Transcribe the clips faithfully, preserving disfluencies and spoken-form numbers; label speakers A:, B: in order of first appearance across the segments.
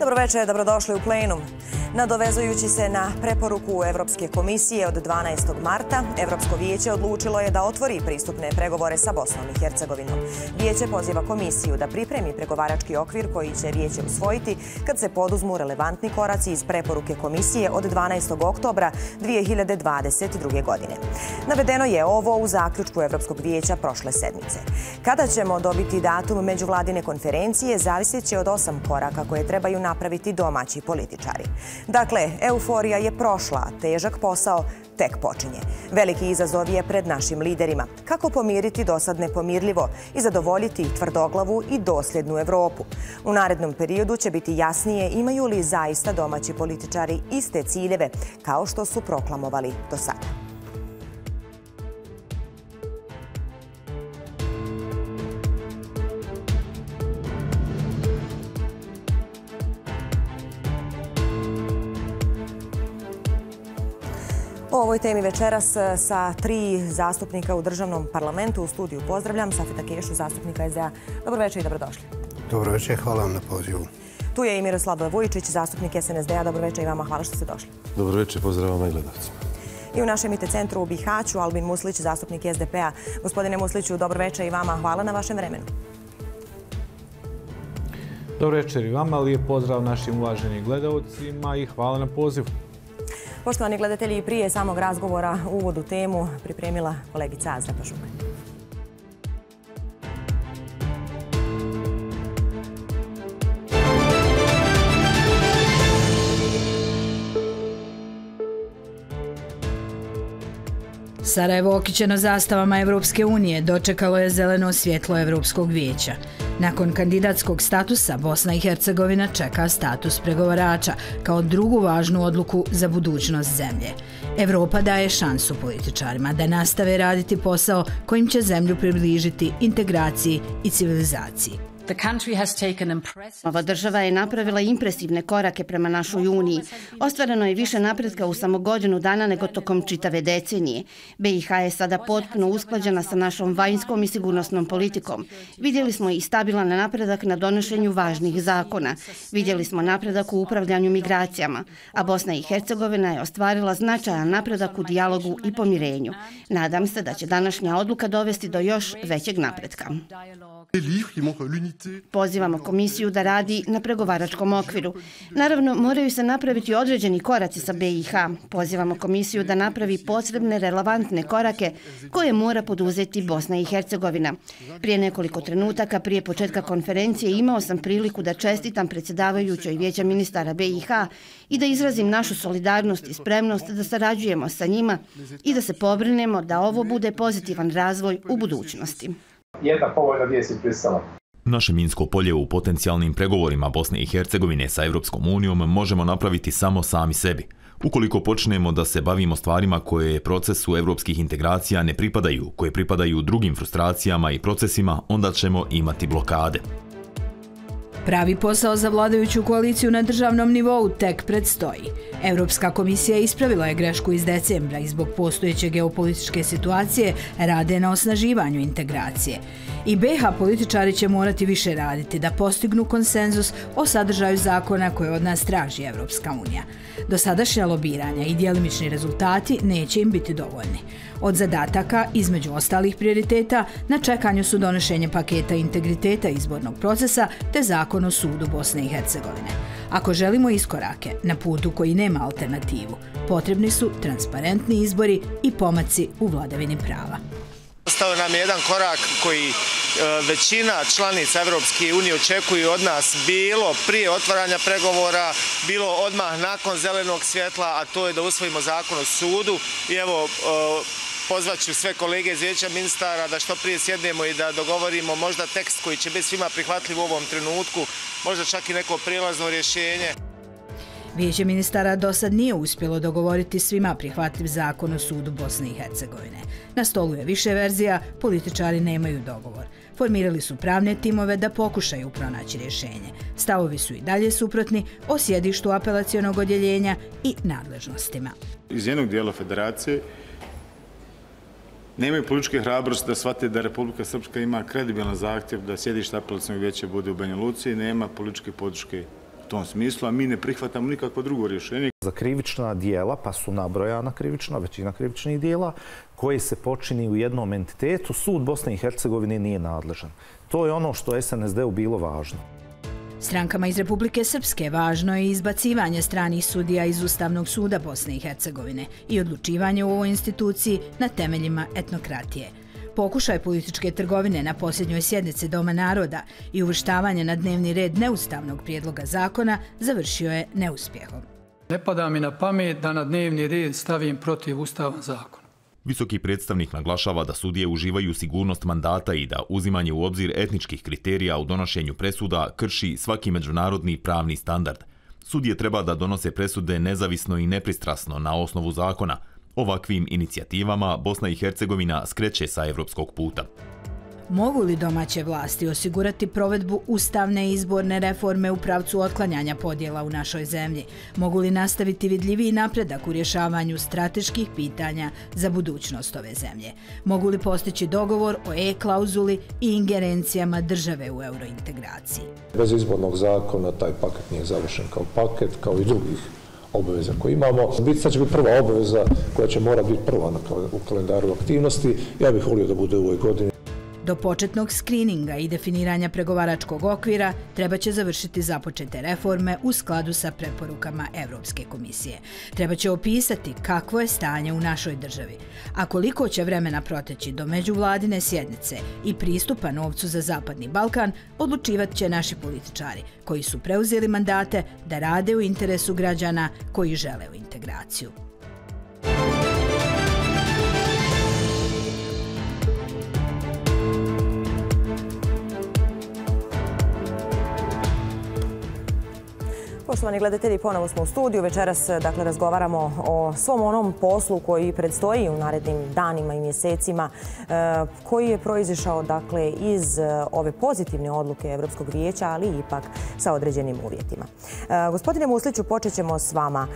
A: Dobro večer, dobrodošli u Plenum. Nadovezujući se na preporuku Evropske komisije od dvanaestog marta, Evropsko vijeće odlučilo je da otvori pristupne pregovore sa Bosnom i Hercegovinom. Vijeće poziva komisiju da pripremi pregovarački okvir koji će vijeće usvojiti kad se poduzmu relevantni koraci iz preporuke komisije od dvanaestog oktobra dvije hiljade dvadeset druge. godine. Navedeno je ovo u zaključku Evropskog vijeća prošle sedmice. Kada ćemo dobiti datum međuvladine konferencije zavisit će od osam koraka koje trebaju napraviti domaći političari. Dakle, euforija je prošla, težak posao tek počinje. Veliki izazov je pred našim liderima. Kako pomiriti dosad nepomirljivo i zadovoljiti tvrdoglavu i dosljednu Evropu? U narednom periodu će biti jasnije imaju li zaista domaći političari iste ciljeve kao što su proklamovali do sada. O ovoj temi večeras sa tri zastupnika u državnom parlamentu u studiju pozdravljam. Safeta Kešu, zastupnika es de a. Dobro večer i dobrodošli.
B: Dobro večer, hvala vam na pozivu.
A: Tu je i Miroslav Vujičić, zastupnik es en es de a. Dobro večer i vama, hvala što ste došli.
C: Dobro večer, pozdrav vama i gledalcima.
A: I u našem I T centru u Bihaću, Albin Muslić, zastupnik es de pe a. Gospodine Musliću, dobro večer i vama, hvala na vašem vremenu.
D: Dobro večer i vama, lijep pozdrav našim uvaženim gledalcima i hvala na pozivu.
A: Poštovani gledatelji, prije samog razgovora uvod u temu pripremila kolegica Azra Pašuk.
E: Sarajevo, okićeno zastavama Evropske unije, dočekalo je zeleno svjetlo Evropskog vijeća. Nakon kandidatskog statusa, Bosna i Hercegovina čeka status pregovarača kao drugu važnu odluku za budućnost zemlje. Evropa daje šansu političarima da nastave raditi posao kojim će zemlju približiti integraciji i civilizaciji.
F: Ova država je napravila impresivne korake prema našoj uniji. Ostvareno je više napretka u samo godinu dana nego tokom čitave decenije. be i ha je sada potpuno usklađena sa našom vanjskom i sigurnosnom politikom. Vidjeli smo i stabilan napredak na donošenju važnih zakona. Vidjeli smo napredak u upravljanju migracijama, a Bosna i Hercegovina je ostvarila značajan napredak u dijalogu i pomirenju. Nadam se da će današnja odluka dovesti do još većeg napretka. Pozivamo komisiju da radi na pregovaračkom okviru. Naravno, moraju se napraviti određeni koraci sa be i ha. Pozivamo komisiju da napravi potrebne relevantne korake koje mora poduzeti Bosna i Hercegovina. Prije nekoliko trenutaka, prije početka konferencije, imao sam priliku da čestitam predsjedavajućoj Vijeća ministara be i ha i da izrazim našu solidarnost i spremnost da sarađujemo sa njima i da se pobrinemo da ovo bude pozitivan razvoj u budućnosti.
G: Jedna povoljna vijest iz Brisela.
H: Naše minsko polje u potencijalnim pregovorima Bosne i Hercegovine sa Evropskom unijom možemo napraviti samo sami sebi. Ukoliko počnemo da se bavimo stvarima koje procesu evropskih integracija ne pripadaju, koje pripadaju drugim frustracijama i procesima, onda ćemo imati blokade.
E: Pravi posao za vladajuću koaliciju na državnom nivou tek predstoji. Evropska komisija ispravila je grešku iz decembra i zbog postojeće geopolitičke situacije rade na osnaživanju integracije. I be i ha političari će morati više raditi da postignu konsenzus o sadržaju zakona koje od nas traži Evropska unija. Dosadašnja lobiranja i djelimični rezultati neće im biti dovoljni. Od zadataka, između ostalih prioriteta, na čekanju su donošenje paketa integriteta izbornog procesa te zakon o sudu Bosne i Hercegovine. Ako želimo iskorake na putu koji nema alternativu, potrebni su transparentni izbori i pomaci u vladavini prava.
I: Ostao nam je jedan korak koji većina članica Evropske unije očekuju od nas, bilo prije otvaranja pregovora, bilo odmah nakon zelenog svjetla, a to je da usvojimo zakon o sudu. I evo, pozvaću sve kolege iz Vijeća ministara da što prije sjednemo i da dogovorimo možda tekst koji će biti svima prihvatljiv u ovom trenutku, možda čak i neko prijelazno rješenje.
E: Vijeće ministara do sad nije uspjelo dogovoriti svima prihvatljiv zakon o sudu Bosne i Hercegovine. Na stolu je više verzija, političari nemaju dogovor. Formirali su pravne timove da pokušaju pronaći rješenje. Stavovi su i dalje suprotni o sjedištu apelacionog odjeljenja i nadležnostima.
J: Iz jednog dijela federacije nemaju političke hrabrosti da shvate da Republika Srpska ima kredibilan zahtjev da sjedište apelacionog vijeća bude u Banja Luci i nema političke podrške tom smislu, a mi ne prihvatamo nikakvo drugo rješenje.
K: Za krivična dijela, pa su nabrojana krivična, većina krivičnih dijela, koji se počini u jednom entitetu, sud Bosne i Hercegovine nije nadležan. To je ono što es en es de-u bilo važno.
E: Strankama iz Republike Srpske važno je izbacivanje stranih sudija iz Ustavnog suda Bosne i Hercegovine i odlučivanje u ovoj instituciji na temeljima etnokratije. Pokušaj političke trgovine na posljednjoj sjednici Doma naroda i uvrštavanje na dnevni red neustavnog prijedloga zakona završio je neuspjehom.
L: Ne pada mi na pamet da na dnevni red stavim protiv ustavan zakon.
H: Visoki predstavnik naglašava da sudije uživaju sigurnost mandata i da uzimanje u obzir etničkih kriterija u donošenju presuda krši svaki međunarodni pravni standard. Sudije treba da donose presude nezavisno i nepristrasno na osnovu zakona. Ovakvim inicijativama Bosna i Hercegovina skreće sa evropskog puta.
E: Mogu li domaće vlasti osigurati provedbu ustavne i izborne reforme u pravcu otklanjanja podjela u našoj zemlji? Mogu li nastaviti vidljiviji napredak u rješavanju strateških pitanja za budućnost ove zemlje? Mogu li postići dogovor o e-klauzuli i ingerencijama države u eurointegraciji?
M: Bez izbornog zakona taj paket nije završen kao paket, kao i drugih obaveza koje imamo. Sad će biti prva obaveza koja će morati biti prva u kalendaru aktivnosti. Ja bih volio da bude u ovoj godini.
E: Do početnog skrininga i definiranja pregovaračkog okvira treba će završiti započete reforme u skladu sa preporukama Evropske komisije. Treba će opisati kakvo je stanje u našoj državi, a koliko će vremena proteći do međuvladine sjednice i pristupa novcu za Zapadni Balkan odlučivat će naši političari koji su preuzeli mandate da rade u interesu građana koji žele u integraciju.
A: Poštovani gledatelji, ponovo smo u studiju. Večeras dakle, razgovaramo o svom onom poslu koji predstoji u narednim danima i mjesecima, koji je proizišao dakle, iz ove pozitivne odluke Evropskog vijeća, ali ipak sa određenim uvjetima. Gospodine Musliću, počet ćemo s vama.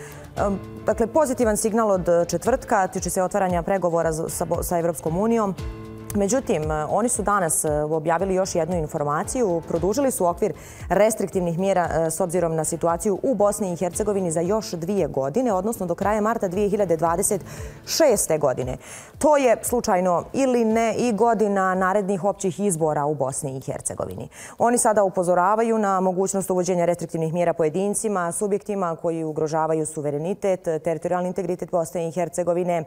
A: Dakle, pozitivan signal od četvrtka tiče se otvaranja pregovora sa Evropskom unijom. Međutim, oni su danas objavili još jednu informaciju. Produžili su okvir restriktivnih mjera s obzirom na situaciju u Bosni i Hercegovini za još dvije godine, odnosno do kraja marta dvije hiljade dvadeset šeste. godine. To je slučajno ili ne i godina narednih općih izbora u Bosni i Hercegovini. Oni sada upozoravaju na mogućnost uvođenja restriktivnih mjera pojedincima, subjektima koji ugrožavaju suverenitet, teritorijalni integritet Bosne i Hercegovine,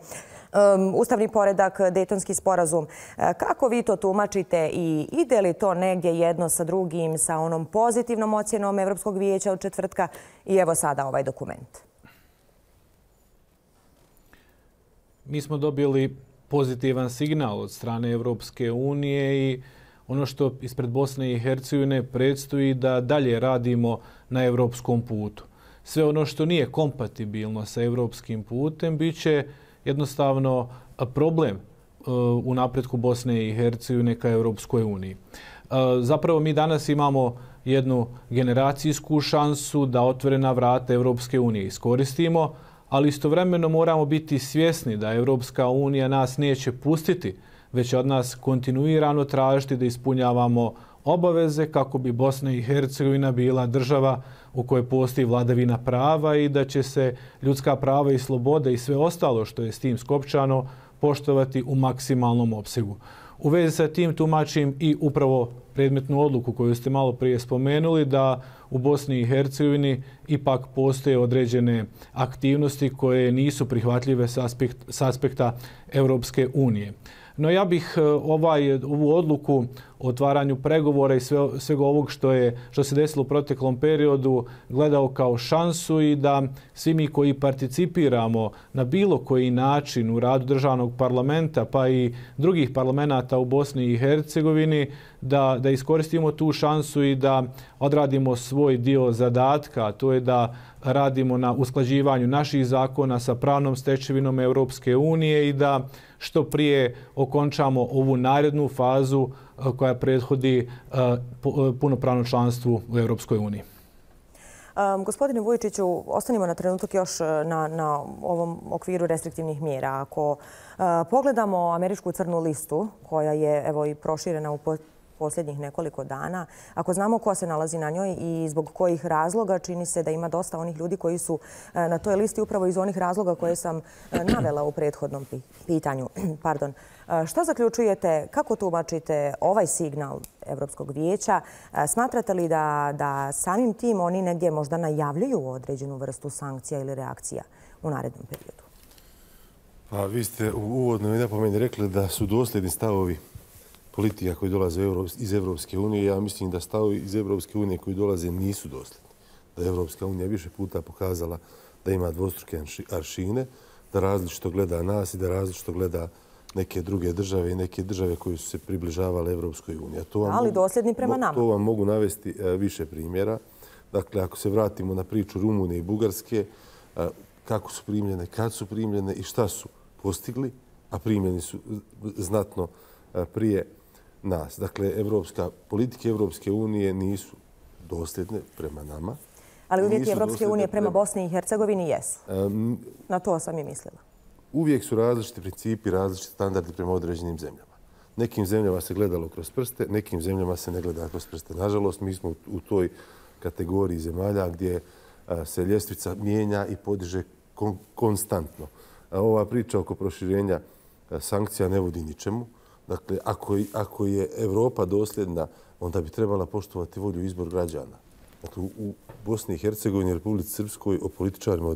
A: ustavni poredak, Dejtonski sporazum. Kako vi to tumačite i ide li to negdje jedno sa drugim, sa onom pozitivnom ocjenom Evropskog vijeća od četvrtka i evo sada ovaj dokument?
D: Mi smo dobili pozitivan signal od strane Evropske unije i ono što ispred Bosne i Hercegovine predstoji da dalje radimo na evropskom putu. Sve ono što nije kompatibilno sa evropskim putem bit će jednostavno problem u napretku Bosne i Hercegovine ka Evropskoj uniji. Zapravo mi danas imamo jednu generacijsku šansu da otvorena vrata Evropske unije iskoristimo, ali istovremeno moramo biti svjesni da Evropska unija nas neće pustiti, već od nas kontinuirano tražiti da ispunjavamo obaveze kako bi Bosna i Hercegovina bila država u kojoj postoji vladavina prava i da će se ljudska prava i slobode i sve ostalo što je s tim skopčano poštovati u maksimalnom opsegu. U vezi sa tim tumačim i upravo predmetnu odluku koju ste malo prije spomenuli da u Bosni i Hercegovini ipak postoje određene aktivnosti koje nisu prihvatljive s aspekta Evropske unije. No ja bih ovaj, ovu odluku o otvaranju pregovora i sve, svega ovog što, je, što se desilo u proteklom periodu gledao kao šansu i da svi mi koji participiramo na bilo koji način u radu državnog parlamenta pa i drugih parlamenta u Bosni i Hercegovini da, da iskoristimo tu šansu i da odradimo svoj dio zadatka, a to je da radimo na usklađivanju naših zakona sa pravnom stečevinom Evropske unije i da što prije okončamo ovu narednu fazu koja prethodi punopravnom članstvu u Evropskoj uniji.
A: Um, gospodine Vujičiću, ostanimo na trenutak još na, na ovom okviru restriktivnih mjera. Ako uh, pogledamo američku crnu listu, koja je evo i proširena u posljednjih nekoliko dana. Ako znamo ko se nalazi na njoj i zbog kojih razloga, čini se da ima dosta onih ljudi koji su na toj listi upravo iz onih razloga koje sam navela u prethodnom pitanju. Pardon. Što zaključujete, kako tumačite ovaj signal Evropskog vijeća? Smatrate li da, da samim tim oni negdje možda najavljuju određenu vrstu sankcija ili reakcija u narednom periodu?
C: Pa vi ste u uvodnoj napomeni rekli da su dosljedni stavovi politika koji dolaze iz Evropske unije. Ja mislim da stavovi iz Evropske unije koji dolaze nisu dosljedni. Da je Evropska unija više puta pokazala da ima dvostruke aršine, da različito gleda nas i da različito gleda neke druge države i neke države koje su se približavale Evropskoj uniji.
A: Ali dosljedni prema nama.
C: To vam mogu navesti više primjera. Dakle, ako se vratimo na priču Rumunije i Bugarske, kako su primljene, kad su primljene i šta su postigli, a primljeni su znatno prije nas. Dakle, evropska, politike Evropske unije nisu dosljedne prema nama.
A: Ali uvijek Evropske unije prema Bosni i Hercegovini jesu. Na to sam i mislila.
C: Uvijek su različiti principi, različiti standardi prema određenim zemljama. Nekim zemljama se gledalo kroz prste, nekim zemljama se ne gleda kroz prste. Nažalost, mi smo u toj kategoriji zemalja gdje se ljestvica mijenja i podiže konstantno. Ova priča oko proširenja sankcija ne vodi ničemu. Dakle, ako, ako je Evropa dosljedna, onda bi trebala poštovati volju i izbor građana. Dakle, u Bosni i Hercegovini i Republici Srpskoj o političarima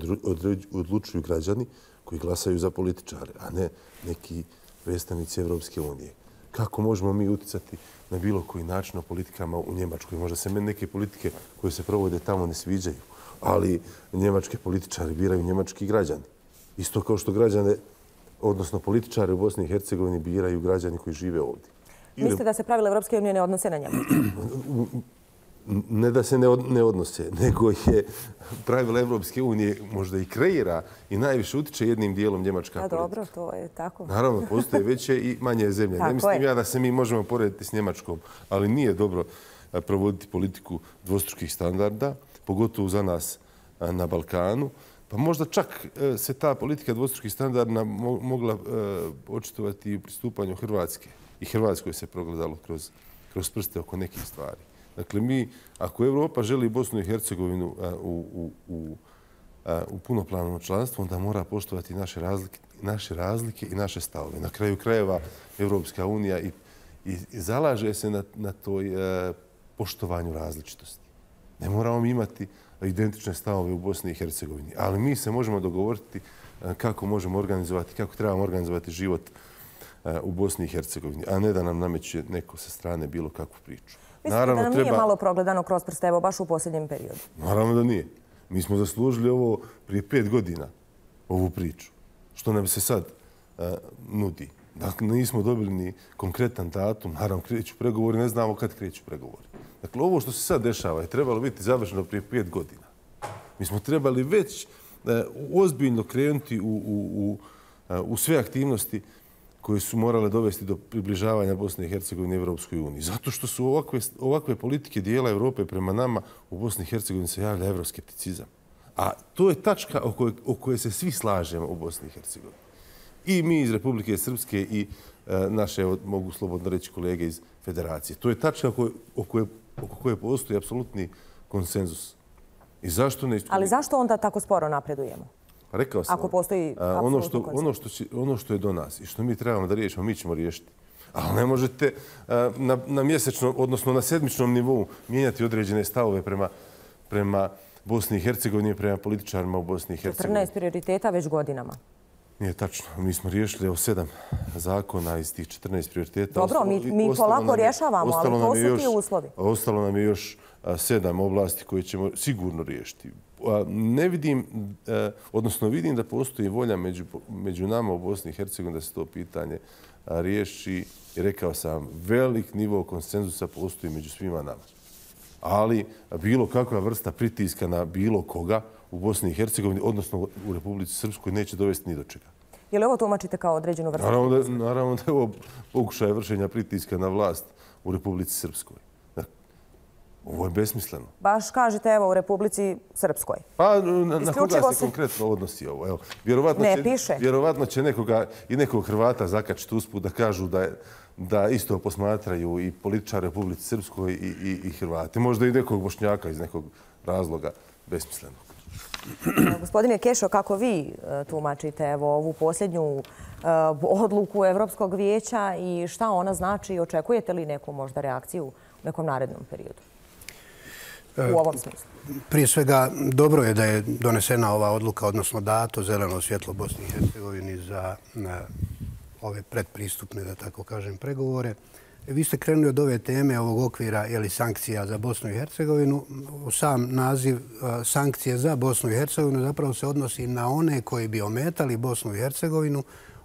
C: odlučuju građani koji glasaju za političare, a ne neki predstavnici Evropske unije. Kako možemo mi uticati na bilo koji način o politikama u Njemačkoj? Možda se meni neke politike koje se provode tamo ne sviđaju, ali njemačke političare biraju njemački građani. Isto kao što građane, odnosno političare u Bosni i Hercegovini biraju građani koji žive ovdje.
A: Mislite da se pravila Evropske unije ne odnose na Njemačku?
C: Ne da se ne odnose, nego je pravila Evropske unije možda i kreira i najviše utiče jednim dijelom njemačka politika.
A: Dobro, to je tako.
C: Naravno, postoje veće i manje zemlje. Ne mislim ja da se mi možemo porediti s Njemačkom, ali nije dobro provoditi politiku dvostrukih standarda, pogotovo za nas na Balkanu. Pa možda čak se ta politika dvostrukih standarda mogla očitovati i u pristupanju Hrvatske. I Hrvatskoj se progledalo kroz, kroz prste oko nekih stvari. Dakle, mi, ako Evropa želi Bosnu i Hercegovinu u, u, u, u punopravno članstvo, onda mora poštovati naše razlike, naše razlike i naše stavove. Na kraju krajeva Evropska unija i, i, i zalaže se na, na toj e, poštovanju različitosti. Ne moramo imati identične stavove u Bosni i Hercegovini, ali mi se možemo dogovoriti kako možemo organizovati, kako trebamo organizovati život u Bosni i Hercegovini, a ne da nam nameće neko sa strane bilo kakvu priču.
A: Mislite da nam nije malo progledano kroz prste, evo baš u posljednjem periodu?
C: Naravno da nije. Mi smo zaslužili ovo prije pet godina, ovu priču, što nam se sad nudi. Dakle, nismo dobili ni konkretan datum, naravno kreću pregovori, ne znamo kad kreću pregovori. Dakle, ovo što se sad dešava je trebalo biti završeno prije pet godina. Mi smo trebali već ozbiljno krenuti u, u, u, u sve aktivnosti koje su morale dovesti do približavanja Bosne i Hercegovine Evropskoj uniji. Zato što su ovakve, ovakve politike dijela Evrope prema nama u Bosni i Hercegovini se javlja evroskepticizam. A to je tačka o kojoj, o kojoj se svi slažemo u Bosni i Hercegovini. I mi iz Republike Srpske i e, naše, mogu slobodno reći, kolege iz Federacije. To je tačka oko, oko, oko koje postoji apsolutni konsenzus. I zašto ne...
A: Ali zašto onda tako sporo napredujemo?
C: Rekao sam,
A: ako postoji
C: a, ono, što, ono, što će, ono što je do nas i što mi trebamo da riješimo, mi ćemo riješiti. Ali ne možete a, na, na mjesečnom, odnosno na sedmičnom nivou mijenjati određene stavove prema, prema Bosni i Hercegovini i prema političarima u Bosni i Hercegovini.
A: četrnaest prioriteta već godinama.
C: Nije tačno. Mi smo riješili evo sedam zakona iz tih četrnaest prioriteta.
A: Dobro, mi, mi polako rješavamo, ali to su ti uslovi.
C: Ostalo nam je još sedam oblasti koje ćemo sigurno riješiti. Ne vidim, odnosno vidim da postoji volja među, među nama u Bosni i Hercegovini da se to pitanje riješi. I rekao sam, velik nivo konsenzusa postoji među svima nama. Ali bilo kakva vrsta pritiska na bilo koga u Bosni i Hercegovini, odnosno u Republici Srpskoj, neće dovesti ni do čega.
A: Je li ovo tumačite kao određenu vrstu?
C: Naravno da, naravno da je ovo pokušaj vršenja pritiska na vlast u Republici Srpskoj. Ovo je besmisleno.
A: Baš kažete, evo, u Republici Srpskoj.
C: Pa na koga se konkretno odnosi ovo? Evo,
A: ne piše.
C: Vjerovatno će nekoga i nekog Hrvata zakačiti usput da kažu da je da isto posmatraju i političari Republici Srpskoj i, i, i Hrvati. Možda i nekog Bošnjaka iz nekog razloga besmislenog.
A: Gospodine Kešo, kako vi tumačite evo, ovu posljednju uh, odluku Evropskog vijeća i šta ona znači i očekujete li neku možda reakciju u nekom narednom periodu? U ovom smislu.
B: Prije svega, dobro je da je donesena ova odluka, odnosno dato zeleno svjetlo Bosni i Hercegovini za na, ove predpristupne, da tako kažem, pregovore. Vi ste krenuli od ove teme, ovog okvira ili sankcija za Bosnu i Hercegovinu. Sam naziv sankcije za Bosnu i Hercegovinu zapravo se odnosi na one koji bi ometali Bosnu i Hercegovinu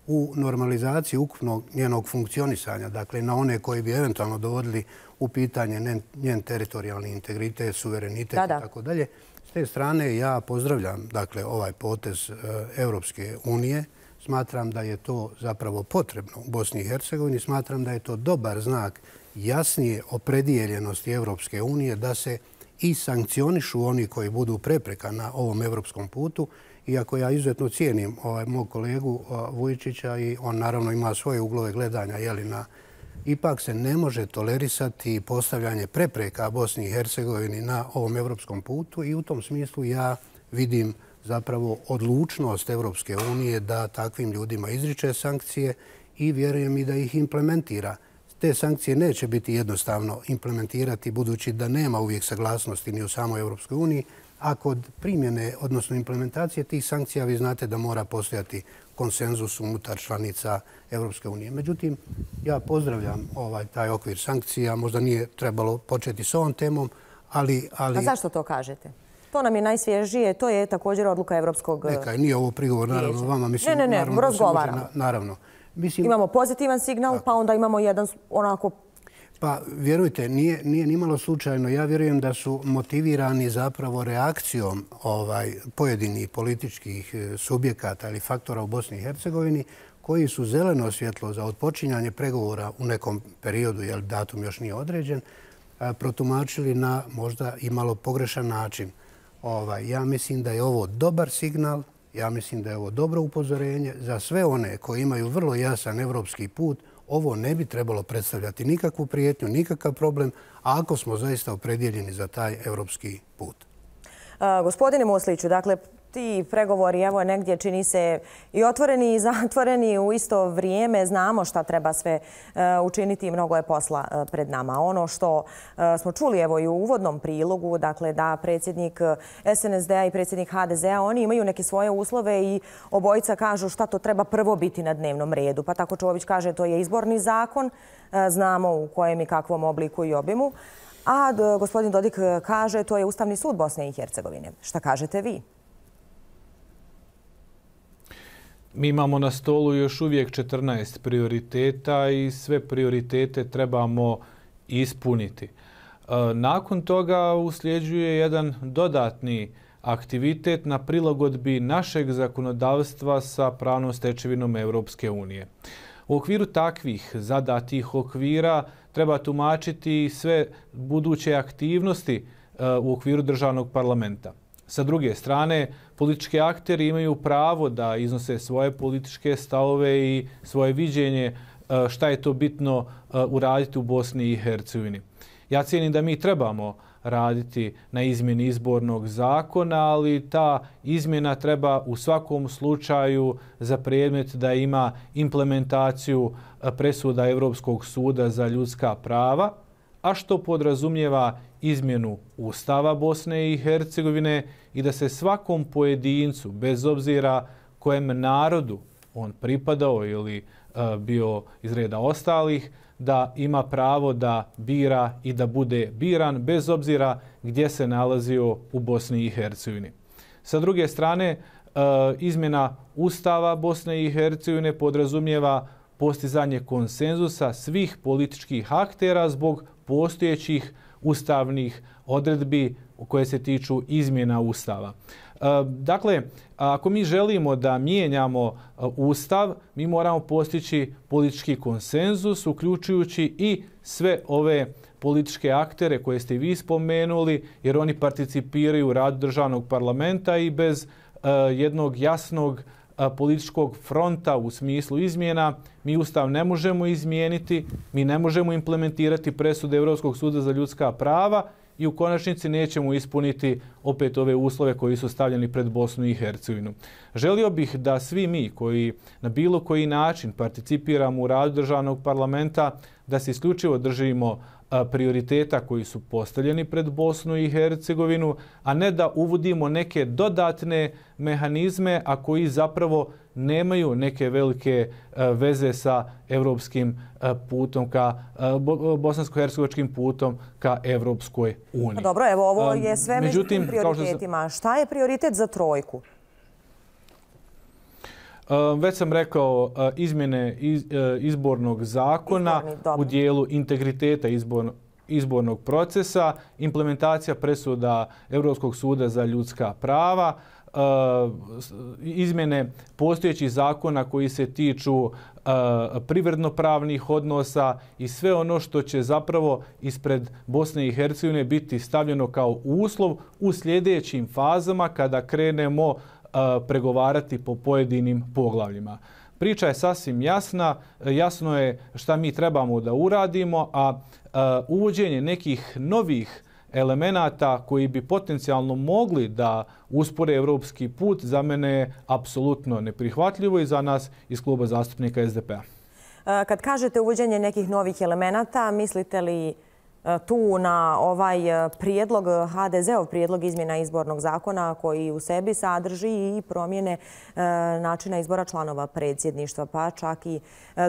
B: u normalizaciji ukupnog njenog funkcionisanja. Dakle, na one koji bi eventualno dovodili u pitanje njen teritorijalni integritet, suverenitet i tako dalje. S te strane ja pozdravljam dakle, ovaj potez Europske unije. Smatram da je to zapravo potrebno u Bosni i Hercegovini. Smatram da je to dobar znak jasnije opredijeljenosti Europske unije da se i sankcionišu oni koji budu prepreka na ovom europskom putu. Iako ja izuzetno cijenim ovaj, mog kolegu Vujičića i on naravno ima svoje uglove gledanja, jeli, na, ipak se ne može tolerisati postavljanje prepreka Bosni i Hercegovini na ovom europskom putu i u tom smislu ja vidim zapravo odlučnost Evropske unije da takvim ljudima izriče sankcije i vjerujem i da ih implementira. Te sankcije neće biti jednostavno implementirati budući da nema uvijek saglasnosti ni u samoj Evropskoj uniji, a kod primjene, odnosno implementacije tih sankcija vi znate da mora postojati konsenzus unutar članica Evropske unije. Međutim, ja pozdravljam ovaj, taj okvir sankcija. Možda nije trebalo početi s ovom temom, ali... ali...
A: A zašto to kažete? To nam je najsvježije, to je također odluka Evropskog vijeća.
B: Neka, nije ovo prigovor naravno vama. Mislim,
A: ne, ne, ne, razgovaramo.
B: Na, naravno. Mislim,
A: imamo pozitivan signal, tako. Pa onda imamo jedan onako...
B: Pa vjerujte, nije, nije nimalo slučajno. Ja vjerujem da su motivirani zapravo reakcijom ovaj, pojedinih političkih subjekata ili faktora u Bosni i Hercegovini koji su zeleno svjetlo za odpočinjanje pregovora u nekom periodu, jer datum još nije određen, protumačili na možda i malo pogrešan način. Ovaj, ja mislim da je ovo dobar signal, ja mislim da je ovo dobro upozorenje za sve one koji imaju vrlo jasan evropski put. Ovo ne bi trebalo predstavljati nikakvu prijetnju, nikakav problem, a ako smo zaista opredjeljeni za taj evropski put.
A: A, gospodine Musliću, dakle, ti pregovori, evo negdje čini se i otvoreni i zatvoreni u isto vrijeme. Znamo šta treba sve uh, učiniti i mnogo je posla uh, pred nama. Ono što uh, smo čuli evo i u uvodnom prilogu, dakle da predsjednik S N S D-a i predsjednik H D Z-a, oni imaju neke svoje uslove i obojica kažu šta to treba prvo biti na dnevnom redu. Pa tako Čović kaže to je izborni zakon, uh, znamo u kojem i kakvom obliku i obimu. A d- gospodin Dodik kaže to je Ustavni sud Bosne i Hercegovine. Šta kažete vi?
D: Mi imamo na stolu još uvijek četrnaest prioriteta i sve prioritete trebamo ispuniti. Nakon toga usljeđuje jedan dodatni aktivitet na prilagodbi našeg zakonodavstva sa pravnom stečevinom Europske unije. U okviru takvih zadatih okvira treba tumačiti sve buduće aktivnosti u okviru državnog parlamenta. Sa druge strane, politički akteri imaju pravo da iznose svoje političke stavove i svoje viđenje šta je to bitno uraditi u Bosni i Hercegovini. Ja cijenim da mi trebamo raditi na izmjeni izbornog zakona, ali ta izmjena treba u svakom slučaju za predmet da ima implementaciju presuda Europskog suda za ljudska prava, a što podrazumijeva izmjenu Ustava Bosne i Hercegovine i da se svakom pojedincu, bez obzira kojem narodu on pripadao ili uh, bio iz reda ostalih, da ima pravo da bira i da bude biran bez obzira gdje se nalazio u Bosni i Hercegovini. Sa druge strane, uh, izmjena Ustava Bosne i Hercegovine podrazumijeva postizanje konsenzusa svih političkih aktera zbog postojećih ustavnih odredbi koje se tiču izmjena Ustava. Dakle, ako mi želimo da mijenjamo Ustav, mi moramo postići politički konsenzus, uključujući i sve ove političke aktere koje ste vi spomenuli, jer oni participiraju u radu državnog parlamenta i bez jednog jasnog političkog fronta u smislu izmjena mi Ustav ne možemo izmijeniti, mi ne možemo implementirati presude Europskog suda za ljudska prava i u konačnici nećemo ispuniti opet ove uslove koji su stavljeni pred Bosnu i Hercegovinu. Želio bih da svi mi koji na bilo koji način participiramo u radu državnog parlamenta, da se isključivo držimo prioriteta koji su postavljeni pred Bosnu i Hercegovinu, a ne da uvodimo neke dodatne mehanizme, a koji zapravo nemaju neke velike veze sa evropskim putom, ka bosansko-hercegovačkim putom ka Evropskoj uniji.
A: Dobro, evo ovo je sve među tim prioritetima. Šta je prioritet za trojku?
D: Već sam rekao, izmjene izbornog zakona u dijelu integriteta izbornog procesa, implementacija presuda Europskog suda za ljudska prava, izmjene postojećih zakona koji se tiču privredno-pravnih odnosa i sve ono što će zapravo ispred Bosne i Hercegovine biti stavljeno kao uslov u sljedećim fazama kada krenemo pregovarati po pojedinim poglavljima. Priča je sasvim jasna, jasno je šta mi trebamo da uradimo, a uvođenje nekih novih elemenata koji bi potencijalno mogli da uspore evropski put za mene je apsolutno neprihvatljivo i za nas iz kluba zastupnika S D P-a.
A: Kad kažete uvođenje nekih novih elemenata, mislite li tu na ovaj prijedlog, H D Z-ov prijedlog izmjena izbornog zakona koji u sebi sadrži i promjene načina izbora članova predsjedništva, pa čak i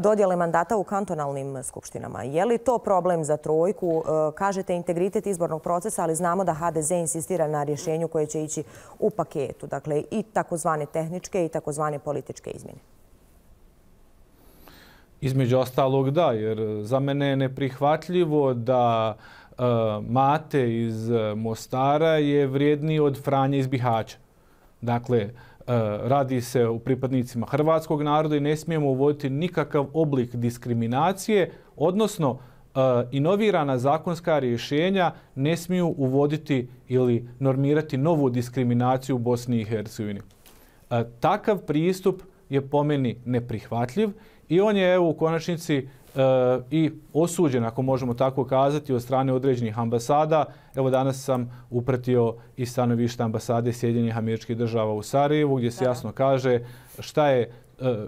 A: dodjele mandata u kantonalnim skupštinama. Je li to problem za trojku? Kažete integritet izbornog procesa, ali znamo da H D Z insistira na rješenju koje će ići u paketu. Dakle, i takozvane tehničke i takozvane političke izmjene.
D: Između ostalog da, jer za mene je neprihvatljivo da uh, Mate iz Mostara je vrijedniji od Franje iz Bihaća. Dakle, uh, radi se o pripadnicima hrvatskog naroda i ne smijemo uvoditi nikakav oblik diskriminacije, odnosno uh, inovirana zakonska rješenja ne smiju uvoditi ili normirati novu diskriminaciju u Bosni i Hercegovini. Uh, takav pristup je po meni neprihvatljiv i on je evo, u konačnici e, i osuđen, ako možemo tako kazati, od strane određenih ambasada. Evo danas sam upratio i stanovište ambasade Sjedinjenih Američkih Država u Sarajevu, gdje se da. jasno kaže šta je... E,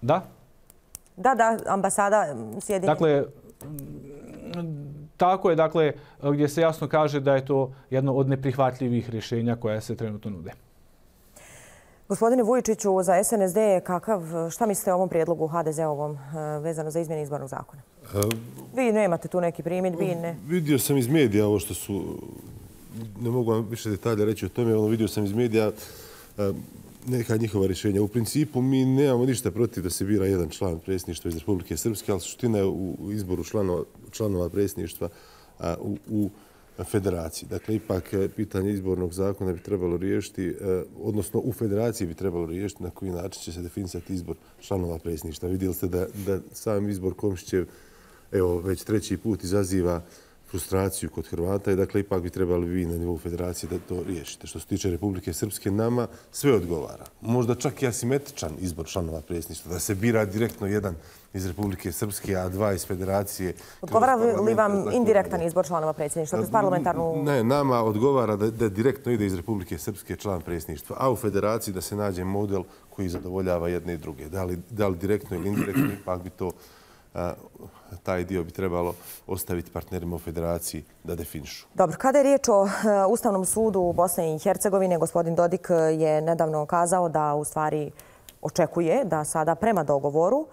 D: da?
A: Da, da, ambasada Sjedinjenih.
D: Dakle, tako je, dakle, gdje se jasno kaže da je to jedno od neprihvatljivih rješenja koja se trenutno nude.
A: Gospodine Vujičiću, za S N S D, kakav, šta mislite o ovom prijedlogu H D Z-ovom vezano za izmjene izbornog zakona? Vi nemate tu neki primjedbi? Ne?
C: Vidio sam iz medija ovo što su, ne mogu vam više detalja reći o tome, ono vidio sam iz medija neka njihova rješenja. U principu mi nemamo ništa protiv da se bira jedan član predsjedništva iz Republike Srpske, ali suština je u izboru članova, članova predsjedništva u, u federaciji. Dakle, ipak pitanje izbornog zakona bi trebalo riješiti, odnosno u federaciji bi trebalo riješiti na koji način će se definisati izbor članova predsjedništva. Vidjeli ste da, da sam izbor Komšićev evo, već treći put izaziva frustraciju kod Hrvata i dakle, ipak bi trebali vi na nivou federacije da to riješite. Što se tiče Republike Srpske, nama sve odgovara. Možda čak i asimetričan izbor članova predsjedništva, da se bira direktno jedan iz Republike Srpske, a dva iz federacije.
A: Odgovara li vam indirektan izbor članova predsjedništva kroz parlamentarnu...
C: Ne, nama odgovara da, da direktno ide iz Republike Srpske član predsjedništva, a u federaciji da se nađe model koji zadovoljava jedne i druge. Da li, da li direktno ili indirektno, ipak bi to, a, taj dio bi trebalo ostaviti partnerima u federaciji da definišu.
A: Dobro, kada je riječ o Ustavnom sudu Bosne i Hercegovine, gospodin Dodik je nedavno kazao da u stvari očekuje da sada prema dogovoru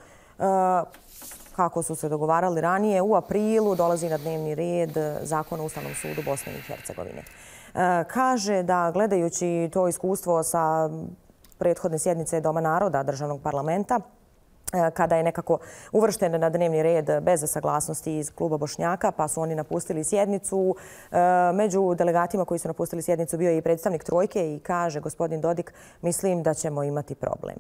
A: kako su se dogovarali ranije, u aprilu dolazi na dnevni red Zakon o Ustavnom sudu Bosne i Hercegovine. Kaže da gledajući to iskustvo sa prethodne sjednice Doma naroda državnog parlamenta, kada je nekako uvršten na dnevni red bez saglasnosti iz kluba Bošnjaka, pa su oni napustili sjednicu. Među delegatima koji su napustili sjednicu bio je i predstavnik Trojke i kaže gospodin Dodik, mislim da ćemo imati problem.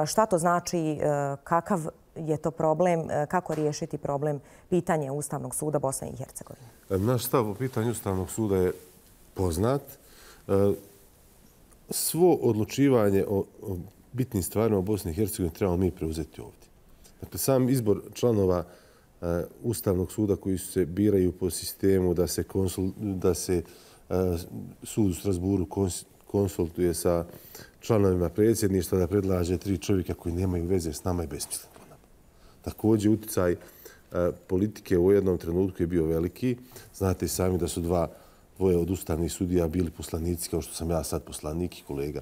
A: Šta to znači, kakav je to problem, kako riješiti problem pitanje Ustavnog suda Bosne i Hercegovine?
C: Naš stav o pitanju Ustavnog suda je poznat. Svo odlučivanje o bitnim stvarima u Bosni i Hercegovini trebamo mi preuzeti ovdje. Dakle, sam izbor članova Ustavnog suda koji se biraju po sistemu da se, konsul, da se sud u Strasburu konsultuje sa članovima predsjedništva, da predlaže tri čovjeka koji nemaju veze s nama i besmislen po nama. Također, utjecaj politike u jednom trenutku je bio veliki. Znate sami da su dva dvoje od ustavnih sudija bili poslanici, kao što sam ja sad poslanik i kolega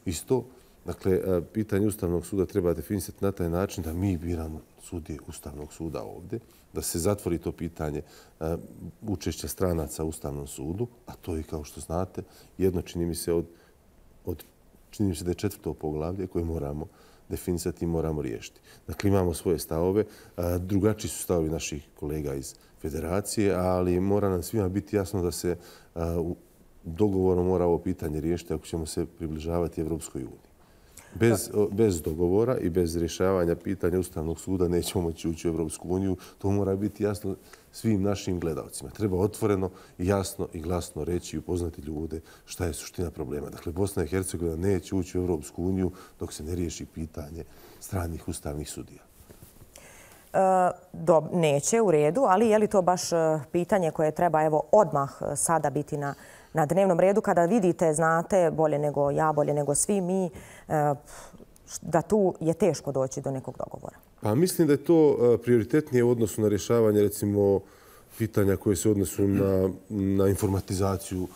C: isto. Dakle, pitanje Ustavnog suda treba definisati na taj način da mi biramo sudije Ustavnog suda ovdje, da se zatvori to pitanje učešća stranaca u Ustavnom sudu, a to je, kao što znate, jedno čini mi se od, od čini mi se da je četvrto poglavlje koje moramo definisati i moramo riješiti. Dakle, imamo svoje stavove, drugačiji su stavovi naših kolega iz federacije, ali mora nam svima biti jasno da se dogovorom mora ovo pitanje riješiti ako ćemo se približavati Evropskoj uniji. Bez, bez dogovora i bez rješavanja pitanja Ustavnog suda nećemo moći ući u Evropsku uniju. To mora biti jasno svim našim gledalcima. Treba otvoreno, jasno i glasno reći i upoznati ljude šta je suština problema. Dakle, Bosna i Hercegovina neće ući u Evropsku uniju dok se ne riješi pitanje stranih ustavnih sudija.
A: Do, neće, u redu, ali je li to baš pitanje koje treba evo odmah sada biti na, na dnevnom redu kada vidite, znate, bolje nego ja, bolje nego svi mi, da tu je teško doći do nekog dogovora?
C: Pa mislim da je to prioritetnije u odnosu na rješavanje, recimo, pitanja koje se odnosu na, na informatizaciju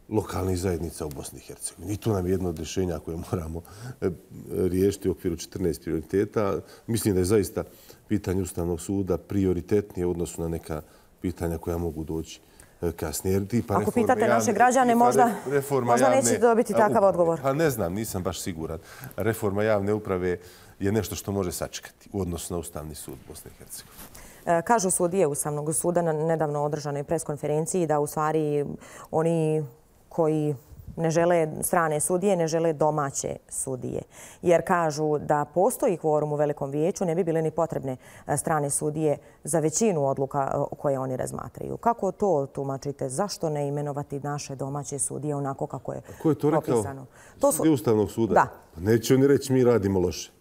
C: lokalnih zajednica u Bosni i Hercegovini. I to nam je jedno od rješenja koje moramo riješiti u okviru četrnaest prioriteta. Mislim da je zaista pitanje Ustavnog suda prioritetnije u odnosu na neka pitanja koja mogu doći kasnije.
A: Pa ako pitate javne, naše građane, možda, možda neće dobiti takav uprave. Odgovor.
C: Pa ne znam, nisam baš siguran. Reforma javne uprave je nešto što može sačekati u odnosu na Ustavni sud Bosne i Hercegovine.
A: Kažu sudije Ustavnog suda na nedavno održanoj preskonferenciji da u stvari oni koji ne žele strane sudije, ne žele domaće sudije. Jer kažu da postoji kvorum u Velikom vijeću, ne bi bile ni potrebne strane sudije za većinu odluka koje oni razmatraju. Kako to tumačite? Zašto ne imenovati naše domaće sudije onako kako je propisano?
C: Ko je to rekao? To su sudije Ustavnog suda?
A: Da.
C: Neće oni reći mi radimo loše.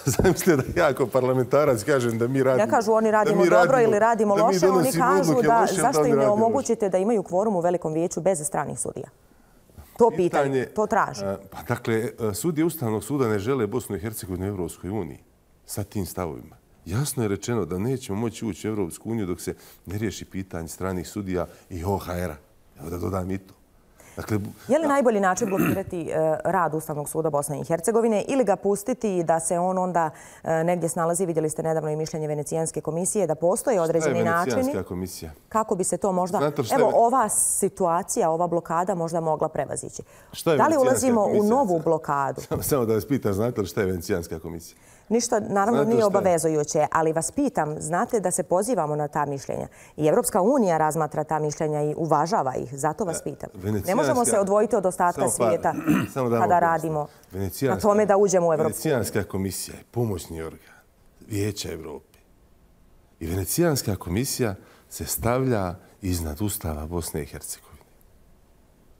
C: Zamislite da ja kao parlamentarac kažem da mi radimo...
A: Ne kažu oni radimo dobro ili radimo loše, oni kažu da zašto im ne omogućite da imaju kvorum u Velikom vijeću bez stranih sudija? To pitanje, to traže.
C: Pa dakle, sudije Ustavnog suda ne žele Bosnu i Hercegovinu u Evropskoj uniji sa tim stavovima. Jasno je rečeno da nećemo moći ući u Evropsku uniju dok se ne riješi pitanje stranih sudija i O H R-a. Evo da dodam i to.
A: Dakle, je li najbolji način blokirati rad Ustavnog suda Bosne i Hercegovine ili ga pustiti da se on onda negdje snalazi? Vidjeli ste nedavno i mišljenje Venecijanske komisije da postoje određeni načini.
C: Šta je Venecijanska komisija?
A: Kako bi se to možda... Evo, ova situacija, ova blokada možda mogla prevazići. Da li ulazimo u novu blokadu?
C: Samo da vas pitam, znate li šta je Venecijanska komisija?
A: Ništa, naravno, nije obavezujuće, ali vas pitam, znate da se pozivamo na ta mišljenja. I Evropska unija razmatra ta mišljenja i uvažava ih, zato vas pitam. Ne možemo se odvojiti od ostatka svijeta kada radimo na tome da uđemo u Evropsku uniju.
C: Venecijanska komisija je pomoćni organ Vijeća Evrope. I Venecijanska komisija se stavlja iznad Ustava Bosne i Hercegovine.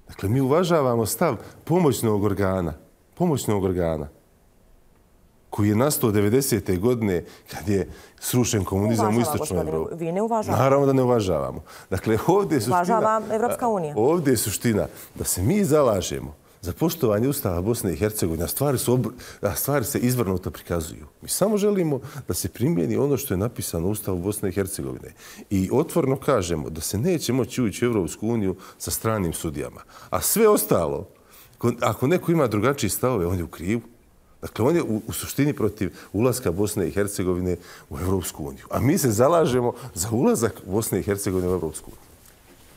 C: Dakle, mi uvažavamo stav pomoćnog organa, pomoćnog organa, koji je nastao devedesete godine kad je srušen komunizam u istočnoj Evropi.
A: Vi ne uvažavamo.
C: Naravno da ne uvažavamo. Dakle, ovdje je suština...
A: Uvažava Evropska unija.
C: Ovdje je suština da se mi zalažemo za poštovanje Ustava Bosne i Hercegovine, a stvari, su obr... a stvari se izvrnuto prikazuju. Mi samo želimo da se primjeni ono što je napisano u Ustavu Bosne i Hercegovine. I otvorno kažemo da se neće moći ući u Evropsku uniju sa stranim sudijama. A sve ostalo, ako neko ima drugačiji stavove, on je u krivu. Dakle, on je u, u suštini protiv ulaska Bosne i Hercegovine u Evropsku uniju. A mi se zalažemo za ulazak Bosne i Hercegovine u Evropsku uniju.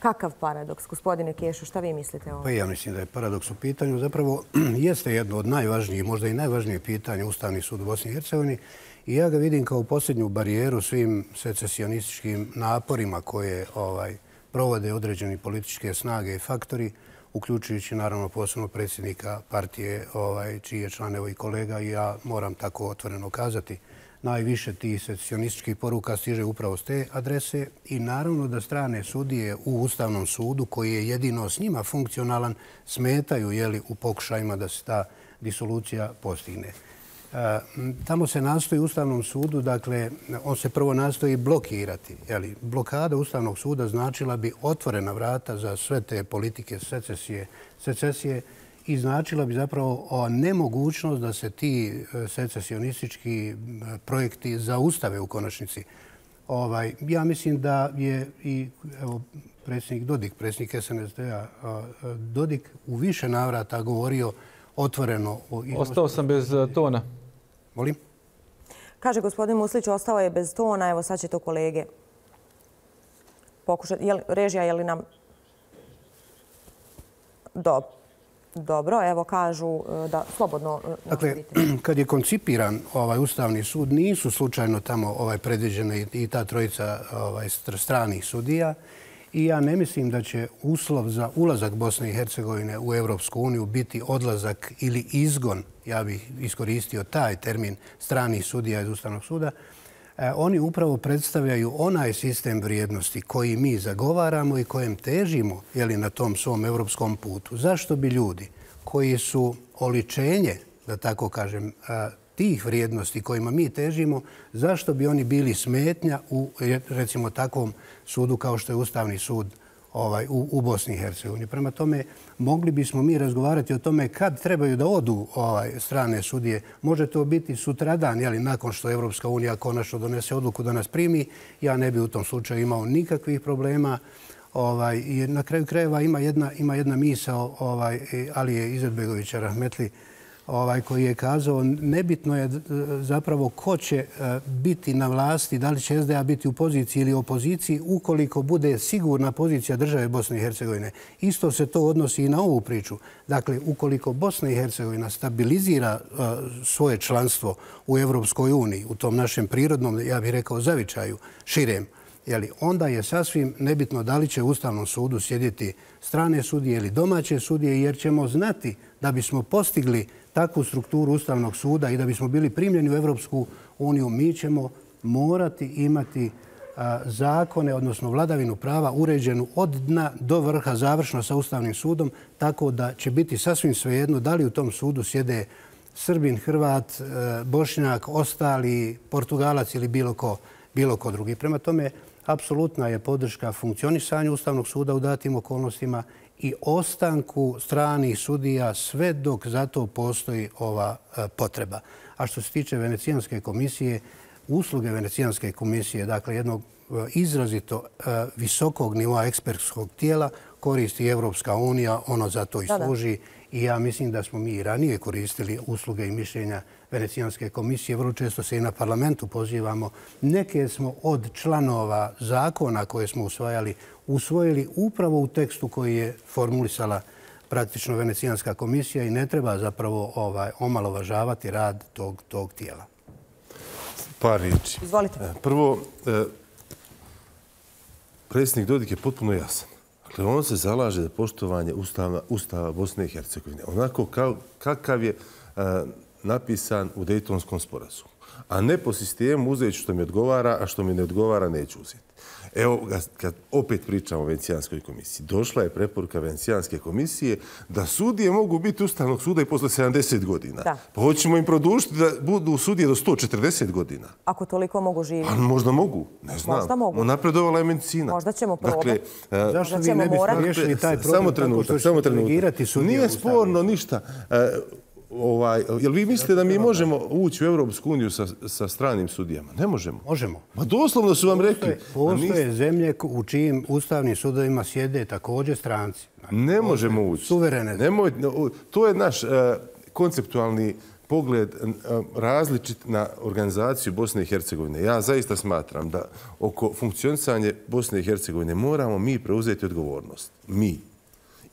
A: Kakav paradoks, gospodine Kešo, šta vi mislite o ovom?
B: Pa ja mislim da je paradoks u pitanju. Zapravo jeste jedno od najvažnijih, možda i najvažnije pitanje Ustavni sud u Bosni i Hercegovini i ja ga vidim kao posljednju barijeru svim secesionističkim naporima koje ovaj, provode određeni političke snage i faktori, uključujući naravno posebno predsjednika partije, ovaj, čiji je član evo i kolega i ja moram tako otvoreno kazati. Najviše tih secesionističkih poruka stiže upravo s te adrese i naravno da strane sudije u Ustavnom sudu, koji je jedino s njima funkcionalan, smetaju jeli, u pokušajima da se ta disolucija postigne. E, tamo se nastoji u Ustavnom sudu, dakle, on se prvo nastoji blokirati. Jeli, blokada Ustavnog suda značila bi otvorena vrata za sve te politike secesije, secesije i značila bi zapravo nemogućnost da se ti secesionistički projekti zaustave u konačnici. Ovaj, ja mislim da je i evo, predsjednik Dodik, predsjednik S N S D-a, Dodik u više navrata govorio otvoreno. O...
D: Ostao sam bez tona.
B: Molim?
A: Kaže gospodin Muslić, ostao je bez tona. Evo sad će to kolege pokušati. Je li, režija, je li nam... Dobro. Dobro, evo kažu da slobodno...
B: Dakle, kad je koncipiran ovaj Ustavni sud, nisu slučajno tamo ovaj predviđene i ta trojica ovaj, stranih sudija i ja ne mislim da će uslov za ulazak Bosne i Hercegovine u Evropsku uniju biti odlazak ili izgon, ja bih iskoristio taj termin, stranih sudija iz Ustavnog suda. E, oni upravo predstavljaju onaj sistem vrijednosti koji mi zagovaramo i kojem težimo jeli, na tom svom evropskom putu. Zašto bi ljudi koji su oličenje, da tako kažem, tih vrijednosti kojima mi težimo, zašto bi oni bili smetnja u, recimo, takvom sudu kao što je Ustavni sud ovaj, u, u Bosni i Hercegovini. Prema tome, mogli bismo mi razgovarati o tome kad trebaju da odu ovaj, strane sudije. Može to biti sutradan, jeli, nakon što Evropska unija konačno donese odluku da nas primi. Ja ne bi u tom slučaju imao nikakvih problema. Ovaj, i na kraju krajeva ima jedna, ima jedna misao ovaj, Alije Izetbegovića Rahmetli ovaj, koji je kazao nebitno je zapravo ko će biti na vlasti, da li će S D A biti u poziciji ili opoziciji ukoliko bude sigurna pozicija države Bosne i Hercegovine. Isto se to odnosi i na ovu priču. Dakle, ukoliko Bosna i Hercegovina stabilizira uh, svoje članstvo u Evropskoj uniji, u tom našem prirodnom, ja bih rekao, zavičaju, širem, jeli, onda je sasvim nebitno da li će u Ustavnom sudu sjediti strane sudije ili domaće sudije, jer ćemo znati da bismo postigli takvu strukturu Ustavnog suda i da bismo bili primljeni u Evropsku uniju, mi ćemo morati imati a, zakone, odnosno vladavinu prava uređenu od dna do vrha, završno sa Ustavnim sudom, tako da će biti sasvim svejedno da li u tom sudu sjede Srbin, Hrvat, Bošnjak, ostali, Portugalac ili bilo ko, bilo ko drugi. Prema tome, apsolutna je podrška funkcionisanju Ustavnog suda u datim okolnostima i ostanku stranih sudija sve dok za to postoji ova potreba. A što se tiče Venecijanske komisije, usluge Venecijanske komisije, dakle jednog izrazito visokog nivoa ekspertskog tijela, koristi Evropska unija, ono za to i služi. I ja mislim da smo mi i ranije koristili usluge i mišljenja Venecijanske komisije. Vrlo često se i na parlamentu pozivamo. Neke smo od članova zakona koje smo usvajali usvojili upravo u tekstu koji je formulisala praktično Venecijanska komisija i ne treba zapravo ovaj, omalovažavati rad tog, tog tijela.
C: Par riječi.
A: Izvolite.
C: Prvo, predsjednik Dodik je potpuno jasan. Dakle, on se zalaže za poštovanje Ustava, Ustava Bosne i Hercegovine. Onako kao, kakav je a, napisan u Dejtonskom sporazumu. A ne po sistemu uzeti što mi odgovara, a što mi ne odgovara neću uzeti. Evo, kad opet pričamo o Venecijanskoj komisiji, došla je preporuka Venecijanske komisije da sudije mogu biti Ustavnog suda i posle sedamdeset godina. Da. Pa hoćemo im produžiti da budu sudije do sto četrdeset godina.
A: Ako toliko mogu živjeti.
C: Pa možda mogu, ne znam.
A: Možda mogu.
C: Napredovala je medicina.
A: Možda ćemo probati.
B: Dakle, zašto vi ne biste riješili taj problem?
C: Samo trenutak, samo trenutak. Nije sporno ništa. Ovaj, jel vi mislite da mi možemo ući u Evropsku uniju sa, sa stranim sudijama? Ne možemo.
B: Možemo.
C: Ma doslovno su vam rekli.
B: Postoje niste... zemlje u čijim ustavnim sudovima sjede također stranci.
C: Ne možemo ući.
B: Suverene.
C: Nemoj, to je naš uh, konceptualni pogled različit na organizaciju Bosne i Hercegovine. Ja zaista smatram da oko funkcionisanja Bosne i Hercegovine moramo mi preuzeti odgovornost. Mi.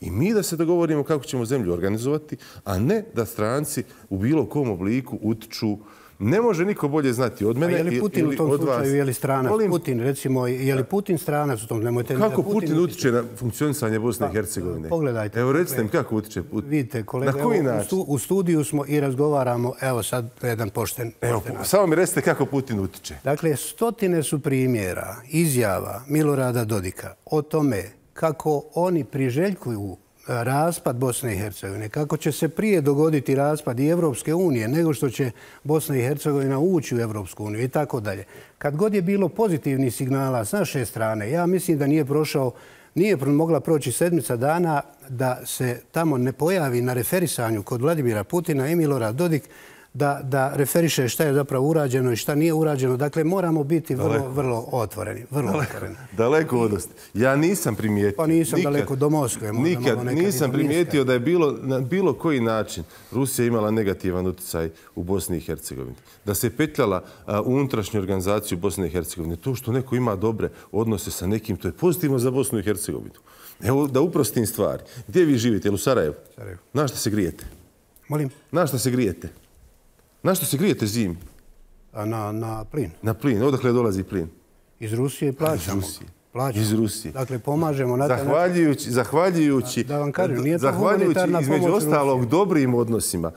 C: I mi da se dogovorimo kako ćemo zemlju organizovati, a ne da stranci u bilo kom obliku utiču. Ne može niko bolje znati od mene ili od vas.
B: Je li Putin u tom slučaju, je li stranac? Putin, recimo, je li Putin stranac u tom? Nemojte
C: kako Putin utiče na funkcionisanje Bosne i Hercegovine?
B: Pogledajte.
C: Evo, recite mi kako utiče Putin.
B: Vidite, kolega, u studiju smo i razgovaramo, evo sad jedan pošten.
C: Evo, samo mi recite kako Putin utiče.
B: Dakle, stotine su primjera, izjava Milorada Dodika o tome kako oni priželjkuju raspad Bosne i Hercegovine, kako će se prije dogoditi raspad i Evropske unije nego što će Bosna i Hercegovina ući u Evropsku uniju i tako dalje. Kad god je bilo pozitivnih signala s naše strane, ja mislim da nije prošao, nije mogla proći sedmica dana da se tamo ne pojavi na referisanju kod Vladimira Putina i Milorad Dodik da, da referiše šta je zapravo urađeno i šta nije urađeno. Dakle, moramo biti vrlo, daleko. vrlo otvoreni. Vrlo
C: daleko,
B: otvoreni.
C: Daleko od osti. Ja nisam primijetio...
B: Pa nisam nikad, daleko do Moskve.
C: Nikad nisam primijetio da je bilo na bilo koji način Rusija imala negativan utjecaj u Bosni i Hercegovini. Da se petljala a, u unutrašnju organizaciju Bosne i Hercegovine. To što neko ima dobre odnose sa nekim, to je pozitivno za Bosnu i Hercegovinu. Evo, da uprostim stvari. Gdje vi živite? U Sarajevu?
B: Sarajevu.
C: Na šta se grijete?
B: Molim?
C: Na šta se grijete? Na što se grijete zimi?
B: Na, na plin.
C: Na plin. Odakle dolazi plin?
B: Iz Rusije plaćamo.
C: Iz Rusije.
B: Plaćamo.
C: Iz Rusije.
B: Dakle, pomažemo na taj način.
C: Zahvaljujući, zahvaljujući,
B: da vam kažem, nije to
C: zahvaljujući između ostalog
B: Rusije.
C: Dobrim odnosima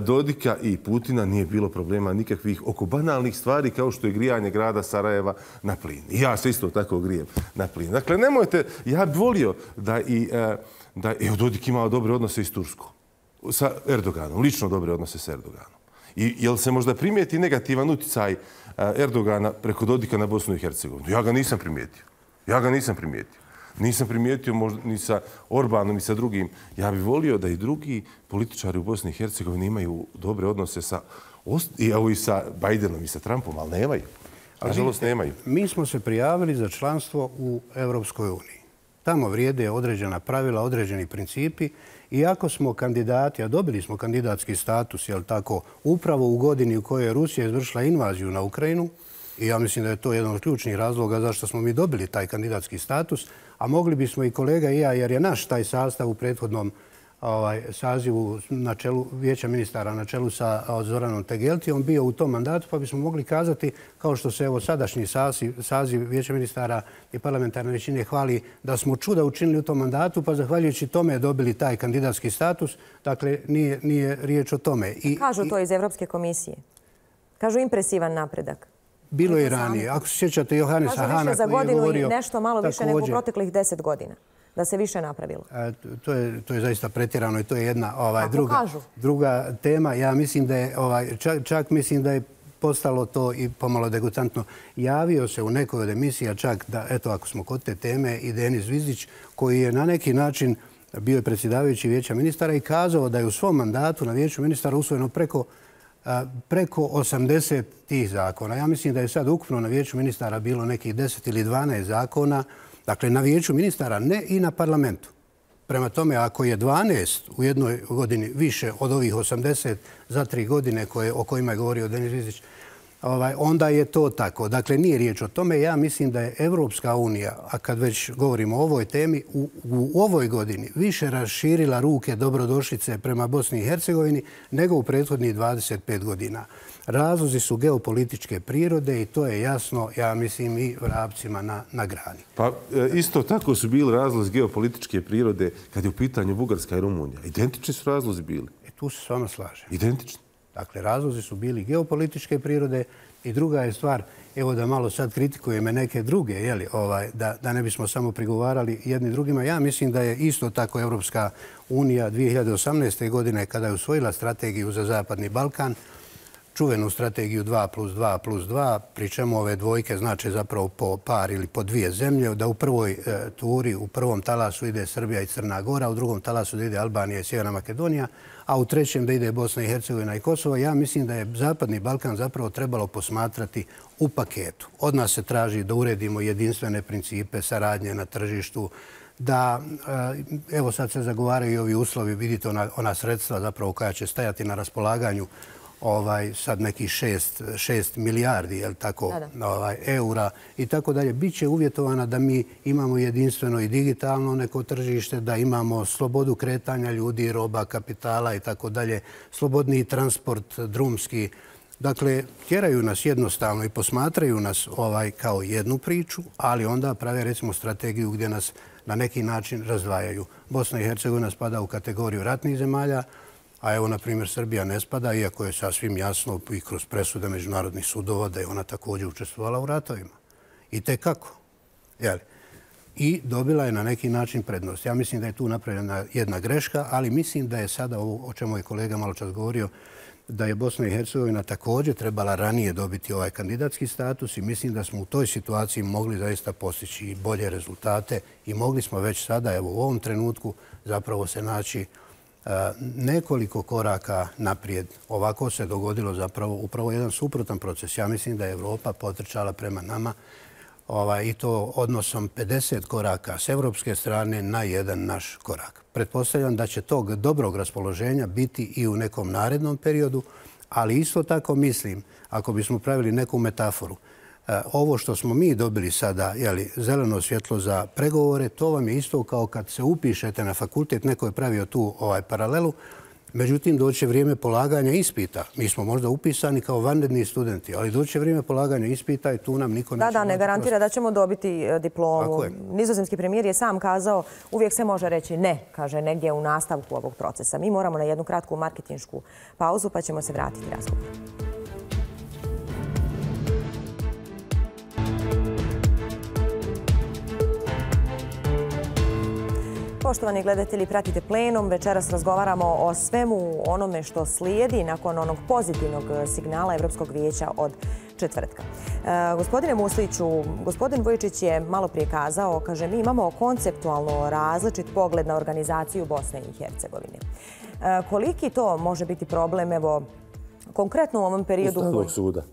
C: Dodika i Putina nije bilo problema nikakvih oko banalnih stvari kao što je grijanje grada Sarajeva na plin. I ja se isto tako grijem na plin. Dakle, nemojte, ja bih volio da i, da, evo, Dodik imao dobre odnose i s Turskom. Sa Erdoganom, lično dobre odnose sa Erdoganom. I jel se možda primijeti negativan utjecaj Erdogana preko Dodika na Bosnu i Hercegovinu? Ja ga nisam primijetio. Ja ga nisam primijetio. Nisam primijetio možda ni sa Orbanom, ni sa drugim. Ja bih volio da i drugi političari u Bosni i Hercegovini imaju dobre odnose sa, evo i sa Bajdenom i sa Trumpom, ali nemaju. Nažalost, nemaju.
B: Mi smo se prijavili za članstvo u Evropskoj uniji. Tamo vrijede određena pravila, određeni principi. Iako smo kandidati, a dobili smo kandidatski status, jel tako, upravo u godini u kojoj je Rusija izvršila invaziju na Ukrajinu, i ja mislim da je to jedan od ključnih razloga zašto smo mi dobili taj kandidatski status, a mogli bismo i kolega i ja, jer je naš taj sastav u prethodnom ovaj, sazivu na čelu Vijeća ministara na čelu sa Zoranom Tegeltijom bio u tom mandatu, pa bismo mogli kazati, kao što se evo sadašnji saziv, saziv Vijeća ministara i parlamentarne većine hvali, da smo čuda učinili u tom mandatu, pa zahvaljujući tome dobili taj kandidatski status. Dakle, nije, nije riječ o tome.
A: I, Kažu to iz Evropske komisije. Kažu impresivan napredak.
B: Bilo je ranije. Ako se sjećate Johannesa Hana koji je govorio...
A: Kažu više za godinu i nešto malo više nego u proteklih deset godina. Da se više napravilo.
B: E, to, je, to je zaista pretjerano i to je jedna ovaj, druga, druga tema. Ja mislim da je, ovaj, čak, čak mislim da je postalo to i pomalo degutantno. Javio se u nekoj od emisija čak da, eto, ako smo kod te teme, i Denis Zvizdić, koji je na neki način bio je predsjedavajući Vijeća ministara i kazao da je u svom mandatu na Vijeću ministara usvojeno preko preko osamdeset tih zakona. Ja mislim da je sad ukupno na Vijeću ministara bilo nekih deset ili dvanaest zakona. Dakle, na Vijeću ministara, ne i na parlamentu. Prema tome, ako je dvanaest u jednoj godini više od ovih osamdeset za tri godine koje, o kojima je govorio Denis Zvizdić, ovaj, onda je to tako. Dakle, nije riječ o tome. Ja mislim da je Evropska unija, a kad već govorimo o ovoj temi, u, u ovoj godini više raširila ruke dobrodošlice prema Bosni i Hercegovini nego u prethodnih dvadeset pet godina. Razlozi su geopolitičke prirode i to je jasno, ja mislim, i vrapcima na, na grani.
C: Pa isto tako su bili razlozi geopolitičke prirode kad je u pitanju Bugarska i Rumunija. Identični su razlozi bili.
B: E, tu se s vama slažem.
C: Identični.
B: Dakle, razlozi su bili geopolitičke prirode i druga je stvar, evo da malo sad kritikujeme neke druge, jeli, ovaj, da, da ne bismo samo prigovarali jedni drugima. Ja mislim da je isto tako Evropska unija dvije hiljade osamnaeste. godine kada je usvojila strategiju za Zapadni Balkan, čuvenu strategiju dva plus dva plus dva, pri čemu ove dvojke znače zapravo po par ili po dvije zemlje, da u prvoj e, turi, u prvom talasu ide Srbija i Crna Gora, u drugom talasu da ide Albanija i Sjeverna Makedonija, a u trećem da ide Bosna i Hercegovina i Kosovo. Ja mislim da je Zapadni Balkan zapravo trebalo posmatrati u paketu. Od nas se traži da uredimo jedinstvene principe saradnje na tržištu, da, evo sad se zagovaraju i ovi uslovi, vidite ona, ona sredstva zapravo koja će stajati na raspolaganju ovaj, sad nekih šest, šest milijardi jel, tako, ovaj, eura i tako dalje. Biće uvjetovana da mi imamo jedinstveno i digitalno neko tržište, da imamo slobodu kretanja ljudi, roba, kapitala i tako dalje, slobodni transport, drumski. Dakle, tjeraju nas jednostavno i posmatraju nas ovaj, kao jednu priču, ali onda prave recimo strategiju gdje nas na neki način razdvajaju. Bosna i Hercegovina spada u kategoriju ratnih zemalja, a evo, na primjer, Srbija ne spada, iako je sasvim jasno i kroz presude međunarodnih sudova da je ona također učestvovala u ratovima. I tekako. Jeli? I dobila je na neki način prednost. Ja mislim da je tu napravljena jedna greška, ali mislim da je sada ovo o čemu je kolega malo čas govorio, da je Bosna i Hercegovina također trebala ranije dobiti ovaj kandidatski status i mislim da smo u toj situaciji mogli zaista postići i bolje rezultate i mogli smo već sada, evo u ovom trenutku, zapravo se naći nekoliko koraka naprijed. Ovako se dogodilo zapravo upravo jedan suprotan proces. Ja mislim da je Evropa potrčala prema nama ovaj, i to odnosom pedeset koraka s evropske strane na jedan naš korak. Pretpostavljam da će tog dobrog raspoloženja biti i u nekom narednom periodu, ali isto tako mislim, ako bismo pravili neku metaforu, ovo što smo mi dobili sada, jeli, zeleno svjetlo za pregovore, to vam je isto kao kad se upišete na fakultet, neko je pravio tu ovaj paralelu, međutim doće vrijeme polaganja ispita. Mi smo možda upisani kao vanredni studenti, ali doće vrijeme polaganja ispita i tu nam niko neće...
A: Da, da, ne garantira da ćemo dobiti diplomu. Nizozemski premijer je sam kazao, uvijek se može reći ne, kaže, negdje u nastavku ovog procesa. Mi moramo na jednu kratku marketinšku pauzu, pa ćemo se vratiti razgovoru. Poštovani gledatelji, pratite Plenum. Večeras razgovaramo o svemu onome što slijedi nakon onog pozitivnog signala Evropskog vijeća od četvrtka. E, gospodine Musliću, gospodin Vujičić je malo prije kazao, kaže, mi imamo konceptualno različit pogled na organizaciju Bosne i Hercegovine. E, koliki to može biti problem, evo, konkretno u ovom periodu...
C: Ustavnog suda.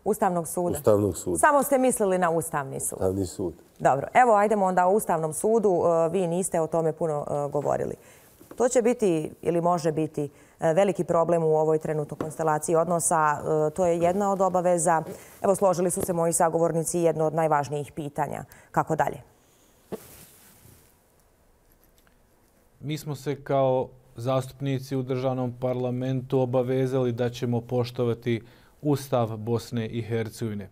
A: Ustavnog suda?
C: Ustavnog suda.
A: Samo ste mislili na Ustavni sud.
C: Ustavni sud.
A: Dobro, evo ajdemo onda o Ustavnom sudu. Vi niste o tome puno govorili. To će biti ili može biti veliki problem u ovoj trenutnoj konstelaciji odnosa. To je jedna od obaveza. Evo, složili su se moji sagovornici, jedno od najvažnijih pitanja. Kako dalje?
D: Mi smo se kao zastupnici u državnom parlamentu obavezali da ćemo poštovati Ustav Bosne i Hercegovine.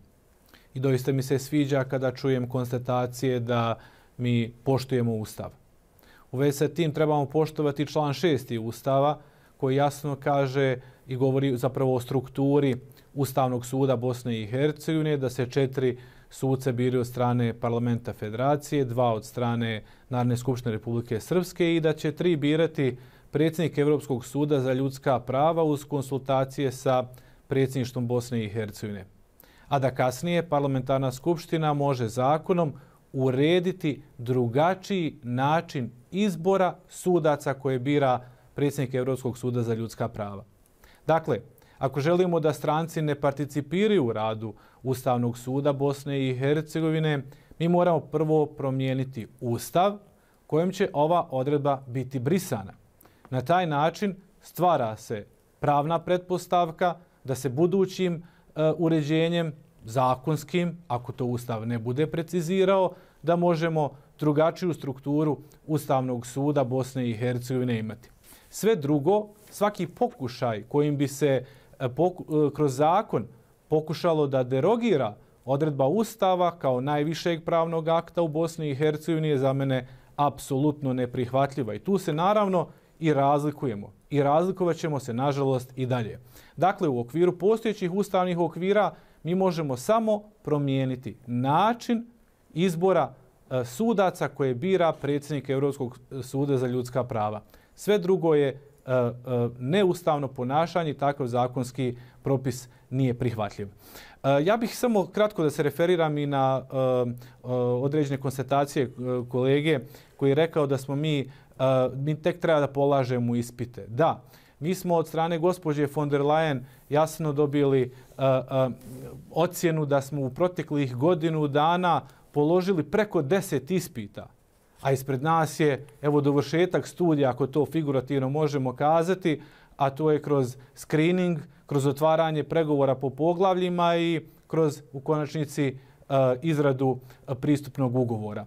D: I doista mi se sviđa kada čujem konstatacije da mi poštujemo Ustav. U vezi sa tim trebamo poštovati član šesti Ustava koji jasno kaže i govori zapravo o strukturi Ustavnog suda Bosne i Hercegovine, da se četiri suce biraju od strane Parlamenta Federacije, dva od strane Narodne skupštine Republike Srpske i da će tri birati predsjednik Evropskog suda za ljudska prava uz konsultacije sa predsjedništvom Bosne i Hercegovine. A da kasnije parlamentarna skupština može zakonom urediti drugačiji način izbora sudaca koje bira predsjednik Evropskog suda za ljudska prava. Dakle, ako želimo da stranci ne participiraju u radu Ustavnog suda Bosne i Hercegovine, mi moramo prvo promijeniti Ustav kojim će ova odredba biti brisana. Na taj način stvara se pravna pretpostavka da se budućim uh, uređenjem zakonskim, ako to Ustav ne bude precizirao, da možemo drugačiju strukturu Ustavnog suda Bosne i Hercegovine imati. Sve drugo, svaki pokušaj kojim bi se uh, poku, uh, kroz zakon pokušalo da derogira odredba Ustava kao najvišeg pravnog akta u Bosni i Hercegovini je za mene apsolutno neprihvatljiva. I tu se naravno i razlikujemo. I razlikovat ćemo se, nažalost, i dalje. Dakle, u okviru postojećih ustavnih okvira mi možemo samo promijeniti način izbora e, sudaca koje bira predsjednik Evropskog suda za ljudska prava. Sve drugo je e, e, neustavno ponašanje i takav zakonski propis nije prihvatljiv. E, ja bih samo kratko da se referiram i na e, e, određene konstatacije e, kolege koji je rekao da smo mi Uh, mi tek treba da polažemo ispite. Da, mi smo od strane gospođe von der Leyen jasno dobili uh, uh, ocjenu da smo u proteklih godinu dana položili preko deset ispita. A ispred nas je, evo, dovršetak studija, ako to figurativno možemo kazati, a to je kroz screening, kroz otvaranje pregovora po poglavljima i kroz, u konačnici, izradu pristupnog ugovora.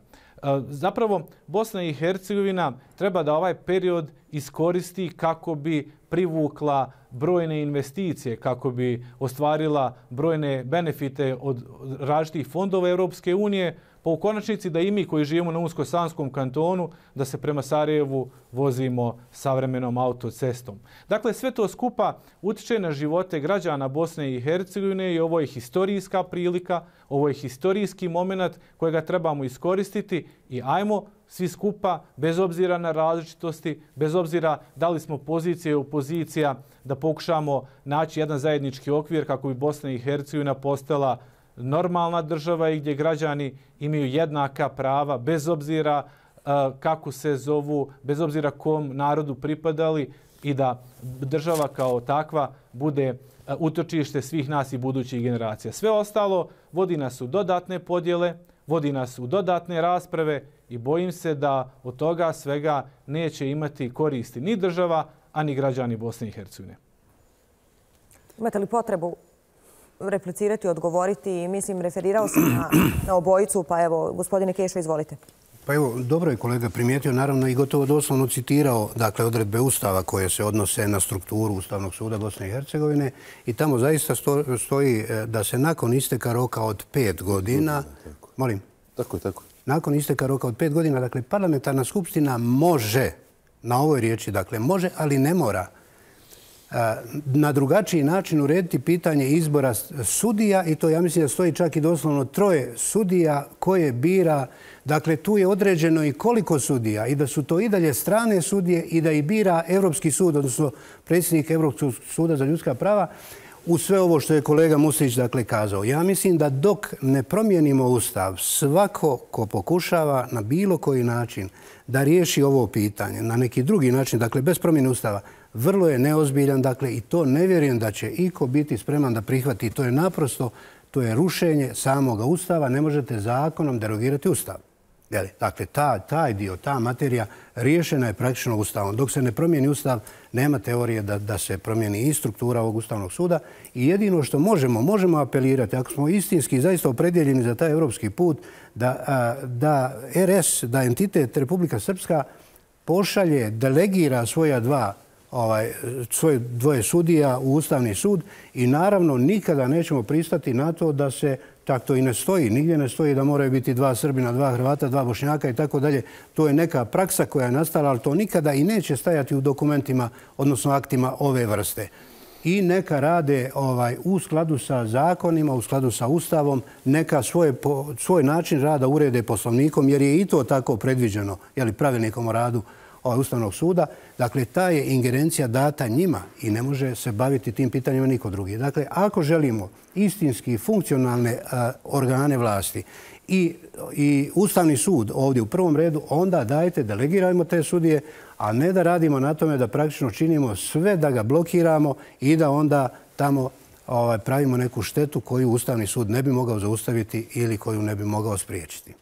D: Zapravo, Bosna i Hercegovina treba da ovaj period iskoristi kako bi privukla brojne investicije, kako bi ostvarila brojne benefite od različitih fondova Europske unije, pa u konačnici da i mi koji živimo na Unsko-Sanskom kantonu, da se prema Sarajevu vozimo savremenom autocestom. Dakle, sve to skupa utiče na živote građana Bosne i Hercegovine i ovo je historijska prilika, ovo je historijski moment kojega trebamo iskoristiti i ajmo svi skupa, bez obzira na različitosti, bez obzira da li smo pozicija i opozicija, da pokušamo naći jedan zajednički okvir kako bi Bosna i Hercegovina postala normalna država i gdje građani imaju jednaka prava bez obzira uh, kako se zovu, bez obzira kom narodu pripadali i da država kao takva bude uh, utočište svih nas i budućih generacija. Sve ostalo vodi nas u dodatne podjele, vodi nas u dodatne rasprave i bojim se da od toga svega neće imati koristi ni država, a ni građani Bosne i Hercegovine.
A: Imate li potrebu replicirati, odgovoriti? Mislim, referirao sam na, na obojicu, pa evo, gospodine Kešo, izvolite.
B: Pa evo, dobro je kolega primijetio, naravno i gotovo doslovno citirao dakle, odredbe Ustava koje se odnose na strukturu Ustavnog suda Bosne i Hercegovine i tamo zaista sto, stoji da se nakon isteka roka od pet godina...
C: Tako.
B: Molim?
C: Tako je, tako.
B: Nakon isteka roka od pet godina, dakle, parlamentarna skupština može, na ovoj riječi, dakle, može, ali ne mora, na drugačiji način urediti pitanje izbora sudija i to ja mislim da stoji čak i doslovno troje sudija koje bira. Dakle, tu je određeno i koliko sudija i da su to i dalje strane sudije i da ih bira Europski sud, odnosno predsjednik Europskog suda za ljudska prava, u sve ovo što je kolega Muslić dakle kazao. Ja mislim da dok ne promijenimo Ustav, svako ko pokušava na bilo koji način da riješi ovo pitanje, na neki drugi način, dakle bez promjene Ustava, vrlo je neozbiljan, dakle, i to ne vjerujem da će iko biti spreman da prihvati. To je naprosto, to je rušenje samoga Ustava. Ne možete zakonom derogirati Ustav. Dakle, ta, taj dio, ta materija riješena je praktično Ustavom. Dok se ne promijeni Ustav, nema teorije da, da se promijeni i struktura ovog Ustavnog suda. I jedino što možemo, možemo apelirati, ako smo istinski zaista opredjeljeni za taj evropski put, da, da R S, da entitet Republika Srpska pošalje, delegira svoja dva Ovaj, svoje dvoje sudija u Ustavni sud i naravno nikada nećemo pristati na to da se, tako to i ne stoji, nigdje ne stoji da moraju biti dva Srbina, dva Hrvata, dva Bošnjaka i tako dalje. To je neka praksa koja je nastala, ali to nikada i neće stajati u dokumentima, odnosno aktima ove vrste. I neka rade ovaj, u skladu sa zakonima, u skladu sa Ustavom, neka svoje, po, svoj način rada urede poslovnikom, jer je i to tako predviđeno, jeli, pravilnikom o radu Ustavnog suda. Dakle, ta je ingerencija data njima i ne može se baviti tim pitanjima niko drugi. Dakle, ako želimo istinski funkcionalne a, organe vlasti i, i Ustavni sud ovdje u prvom redu, onda dajte, delegirajmo te sudije, a ne da radimo na tome da praktično činimo sve da ga blokiramo i da onda tamo ovaj, pravimo neku štetu koju Ustavni sud ne bi mogao zaustaviti ili koju ne bi mogao spriječiti.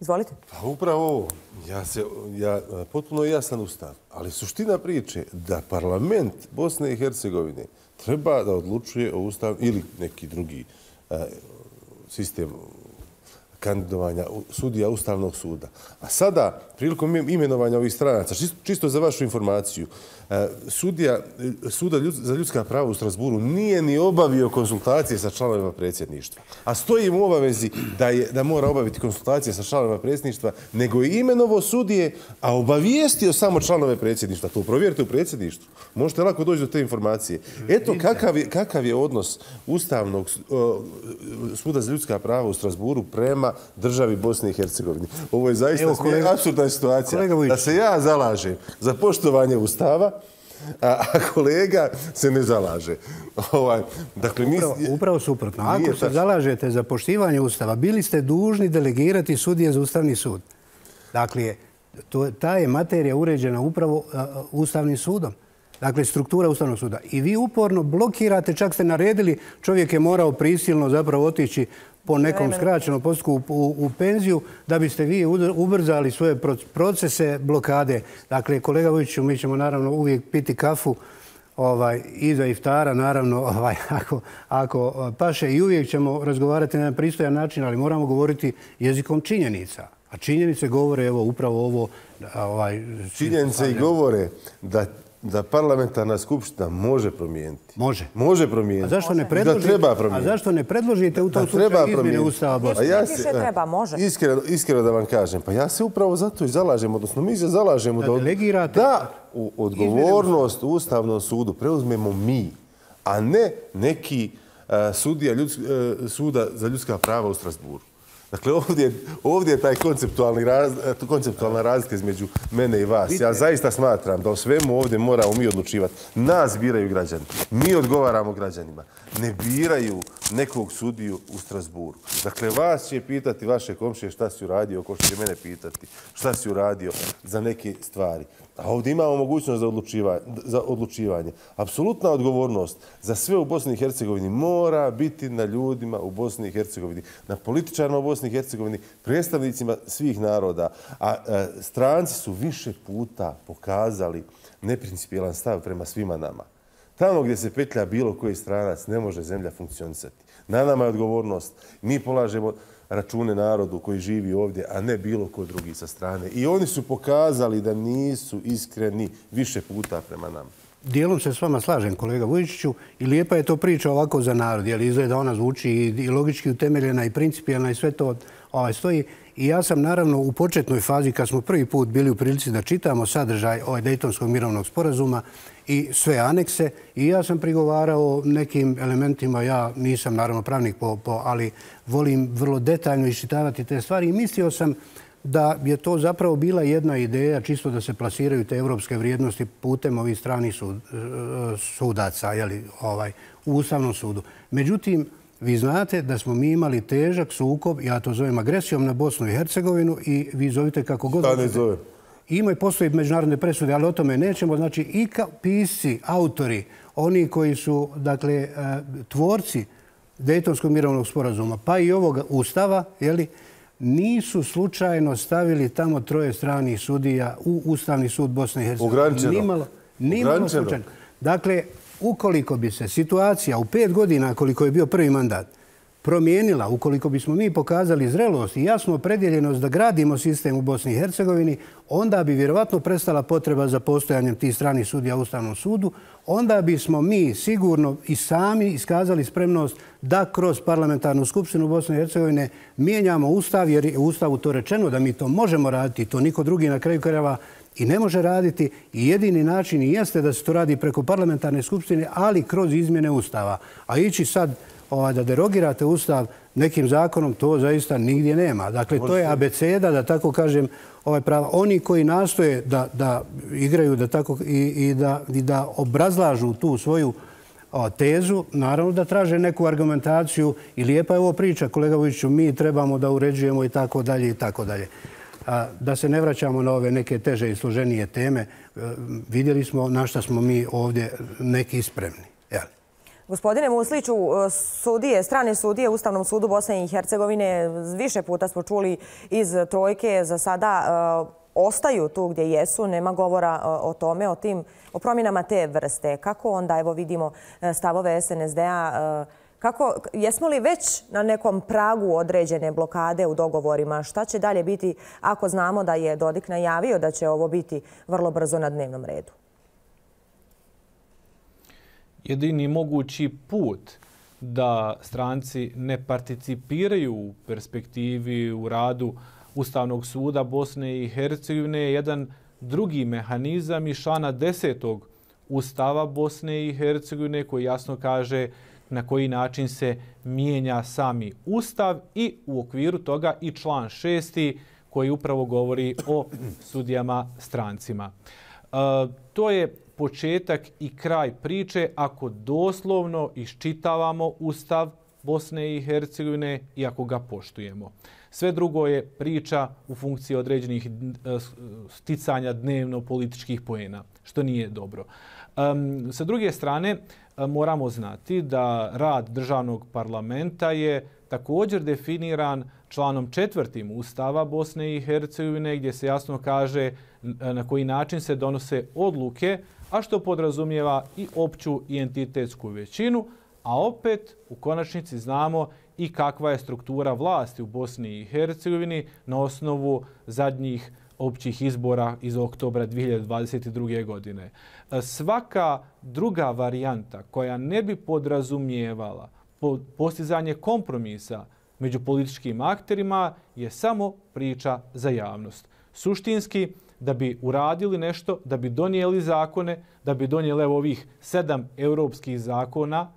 A: Izvolite.
C: Pa upravo ovo. Ja se, ja, potpuno jasan Ustav. Ali suština priče da parlament Bosne i Hercegovine treba da odlučuje o Ustavu ili neki drugi a, sistem kandidovanja sudija Ustavnog suda. A sada, prilikom imenovanja ovih stranaca, čisto, čisto za vašu informaciju, sudija Suda za ljudska prava u Strasburu nije ni obavio konsultacije sa članovima predsjedništva. A stoji mu u obavezi da, je, da mora obaviti konsultacije sa članovima predsjedništva, nego je imenovo sudije, a obavijestio samo članove predsjedništva. To provjerite u predsjedništvu. Možete lako doći do te informacije. Eto kakav je, kakav je odnos Ustavnog Suda za ljudska prava u Strasburu prema državi Bosne i Hercegovine. Ovo je zaista apsurdna situacija. Da se ja zalažem za poštovanje Ustava, a kolega se ne zalaže. Ovaj, dakle,
B: upravo, upravo suprotno. Ako se zalažete za poštivanje Ustava, bili ste dužni delegirati sudije za Ustavni sud. Dakle, to, ta je materija uređena upravo uh, Ustavnim sudom. Dakle, struktura Ustavnog suda. I vi uporno blokirate, čak ste naredili, čovjek je morao prisilno zapravo otići po nekom skraćenom postupku u, u penziju, da biste vi ubrzali svoje procese blokade. Dakle, kolega Vujiću, mi ćemo naravno uvijek piti kafu ovaj, iza iftara, naravno, ovaj, ako, ako paše i uvijek ćemo razgovarati na jedan pristojan način, ali moramo govoriti jezikom činjenica. A činjenice govore, evo, upravo ovo... Ovaj,
C: činjenice i govore da da parlamentarna skupština može promijeniti.
B: Može.
C: Može promijeniti.
B: A zašto ne predložite?
C: Da treba promijeniti.
B: A zašto ne predložite u tom slučaju izmjene Ustava Bosne?
A: Ja se, treba, može.
C: Iskreno, iskreno da vam kažem, pa ja se upravo zato i zalažem, odnosno mi se zalažemo da,
B: da, delegirate,
C: da u odgovornost u Ustavnom sudu preuzmemo mi, a ne neki uh, sudija ljudsk, uh, suda za ljudska prava u Strasburu. Dakle, ovdje, ovdje je taj konceptualni raz, konceptualna razlika između mene i vas. Ja zaista smatram da o svemu ovdje moramo mi odlučivati. Nas biraju građani. Mi odgovaramo građanima. Ne biraju nekog sudiju u Strasburu. Dakle, vas će pitati vaše komšije šta si uradio, ko što će mene pitati šta si uradio za neke stvari. A ovdje imamo mogućnost za odlučivanje. Za odlučivanje. Apsolutna odgovornost za sve u Bosni i Hercegovini mora biti na ljudima u Bosni i Hercegovini, na političarima u Bosni i Hercegovini, predstavnicima svih naroda. A, a stranci su više puta pokazali neprincipijelan stav prema svima nama. Tamo gdje se petlja bilo koji stranac ne može zemlja funkcionisati. Na nama je odgovornost. Mi polažemo račune narodu koji živi ovdje, a ne bilo ko drugi sa strane. I oni su pokazali da nisu iskreni više puta prema nama.
B: Dijelom se s vama slažem, kolega Vujičiću, i lijepa je to priča ovako za narod, jer izgleda ona zvuči i logički utemeljena i principijelna i sve to ovaj, stoji. I ja sam naravno u početnoj fazi, kad smo prvi put bili u prilici da čitamo sadržaj ovaj Dejtonskog mirovnog sporazuma i sve anekse, i ja sam prigovarao nekim elementima, ja nisam naravno pravnik, po, po, ali volim vrlo detaljno iščitavati te stvari i mislio sam da je to zapravo bila jedna ideja čisto da se plasiraju te evropske vrijednosti putem ovih stranih sud, sudaca jeli, ovaj, u Ustavnom sudu. Međutim, vi znate da smo mi imali težak sukob, ja to zovem agresijom na Bosnu i Hercegovinu i vi zovite kako god...
C: Šta ne zove?
B: Ima i postoji međunarodne presude, ali o tome nećemo. Znači, i pisci, autori, oni koji su, dakle, tvorci Dejtonskog mirovnog sporazuma, pa i ovog Ustava, jeli, nisu slučajno stavili tamo troje stranih sudija u Ustavni sud Bosne i Hercegovine.
C: Ograničeno.
B: Nimalo, nimalo slučajno. Dakle, ukoliko bi se situacija u pet godina, koliko je bio prvi mandat, promijenila, ukoliko bismo mi pokazali zrelost i jasnu opredjeljenost da gradimo sistem u Bosni i Hercegovini, onda bi vjerovatno prestala potreba za postojanjem tih stranih sudija u Ustavnom sudu, onda bismo mi sigurno i sami iskazali spremnost da kroz parlamentarnu skupštinu Bosne i Hercegovine mijenjamo Ustav, jer je u Ustavu to rečeno da mi to možemo raditi, to niko drugi na kraju krajeva i ne može raditi. I jedini način i jeste da se to radi preko parlamentarne skupštine, ali kroz izmjene Ustava. A ići sad da derogirate Ustav nekim zakonom, to zaista nigdje nema. Dakle, to je abeceda, da tako kažem, ovaj prava. Oni koji nastoje da, da igraju da tako, i, i, da, i da obrazlažu tu svoju o, tezu, naravno da traže neku argumentaciju i lijepa je ovo priča, kolega Vujiću, mi trebamo da uređujemo i tako dalje i tako dalje. A, da se ne vraćamo na ove neke teže i složenije teme, vidjeli smo na šta smo mi ovdje neki spremni. Jel?
A: Gospodine Musliću, sudije, strane sudije u Ustavnom sudu Bosne i Hercegovine, više puta smo čuli iz trojke, za sada ostaju tu gdje jesu, nema govora o tome, o tim, o promjenama te vrste. Kako onda, evo vidimo stavove S N S D-a, kako, jesmo li već na nekom pragu određene blokade u dogovorima? Šta će dalje biti ako znamo da je Dodik najavio da će ovo biti vrlo brzo na dnevnom redu?
D: Jedini mogući put da stranci ne participiraju u perspektivi u radu Ustavnog suda Bosne i Hercegovine je jedan drugi mehanizam iz člana desetog Ustava Bosne i Hercegovine koji jasno kaže na koji način se mijenja sami Ustav i u okviru toga i član šesti koji upravo govori o sudijama strancima. E, to je početak i kraj priče ako doslovno iščitavamo Ustav Bosne i Hercegovine i ako ga poštujemo. Sve drugo je priča u funkciji određenih sticanja dnevno političkih poena, što nije dobro. Um, sa druge strane, moramo znati da rad državnog parlamenta je također definiran članom četvrtim Ustava Bosne i Hercegovine, gdje se jasno kaže na koji način se donose odluke, a što podrazumijeva i opću i entitetsku većinu, a opet u konačnici znamo i kakva je struktura vlasti u Bosni i Hercegovini na osnovu zadnjih općih izbora iz oktobra dvije hiljade dvadeset druge. godine. Svaka druga varijanta koja ne bi podrazumijevala postizanje kompromisa među političkim akterima je samo priča za javnost. Suštinski, da bi uradili nešto, da bi donijeli zakone, da bi donijeli ovih sedam europskih zakona,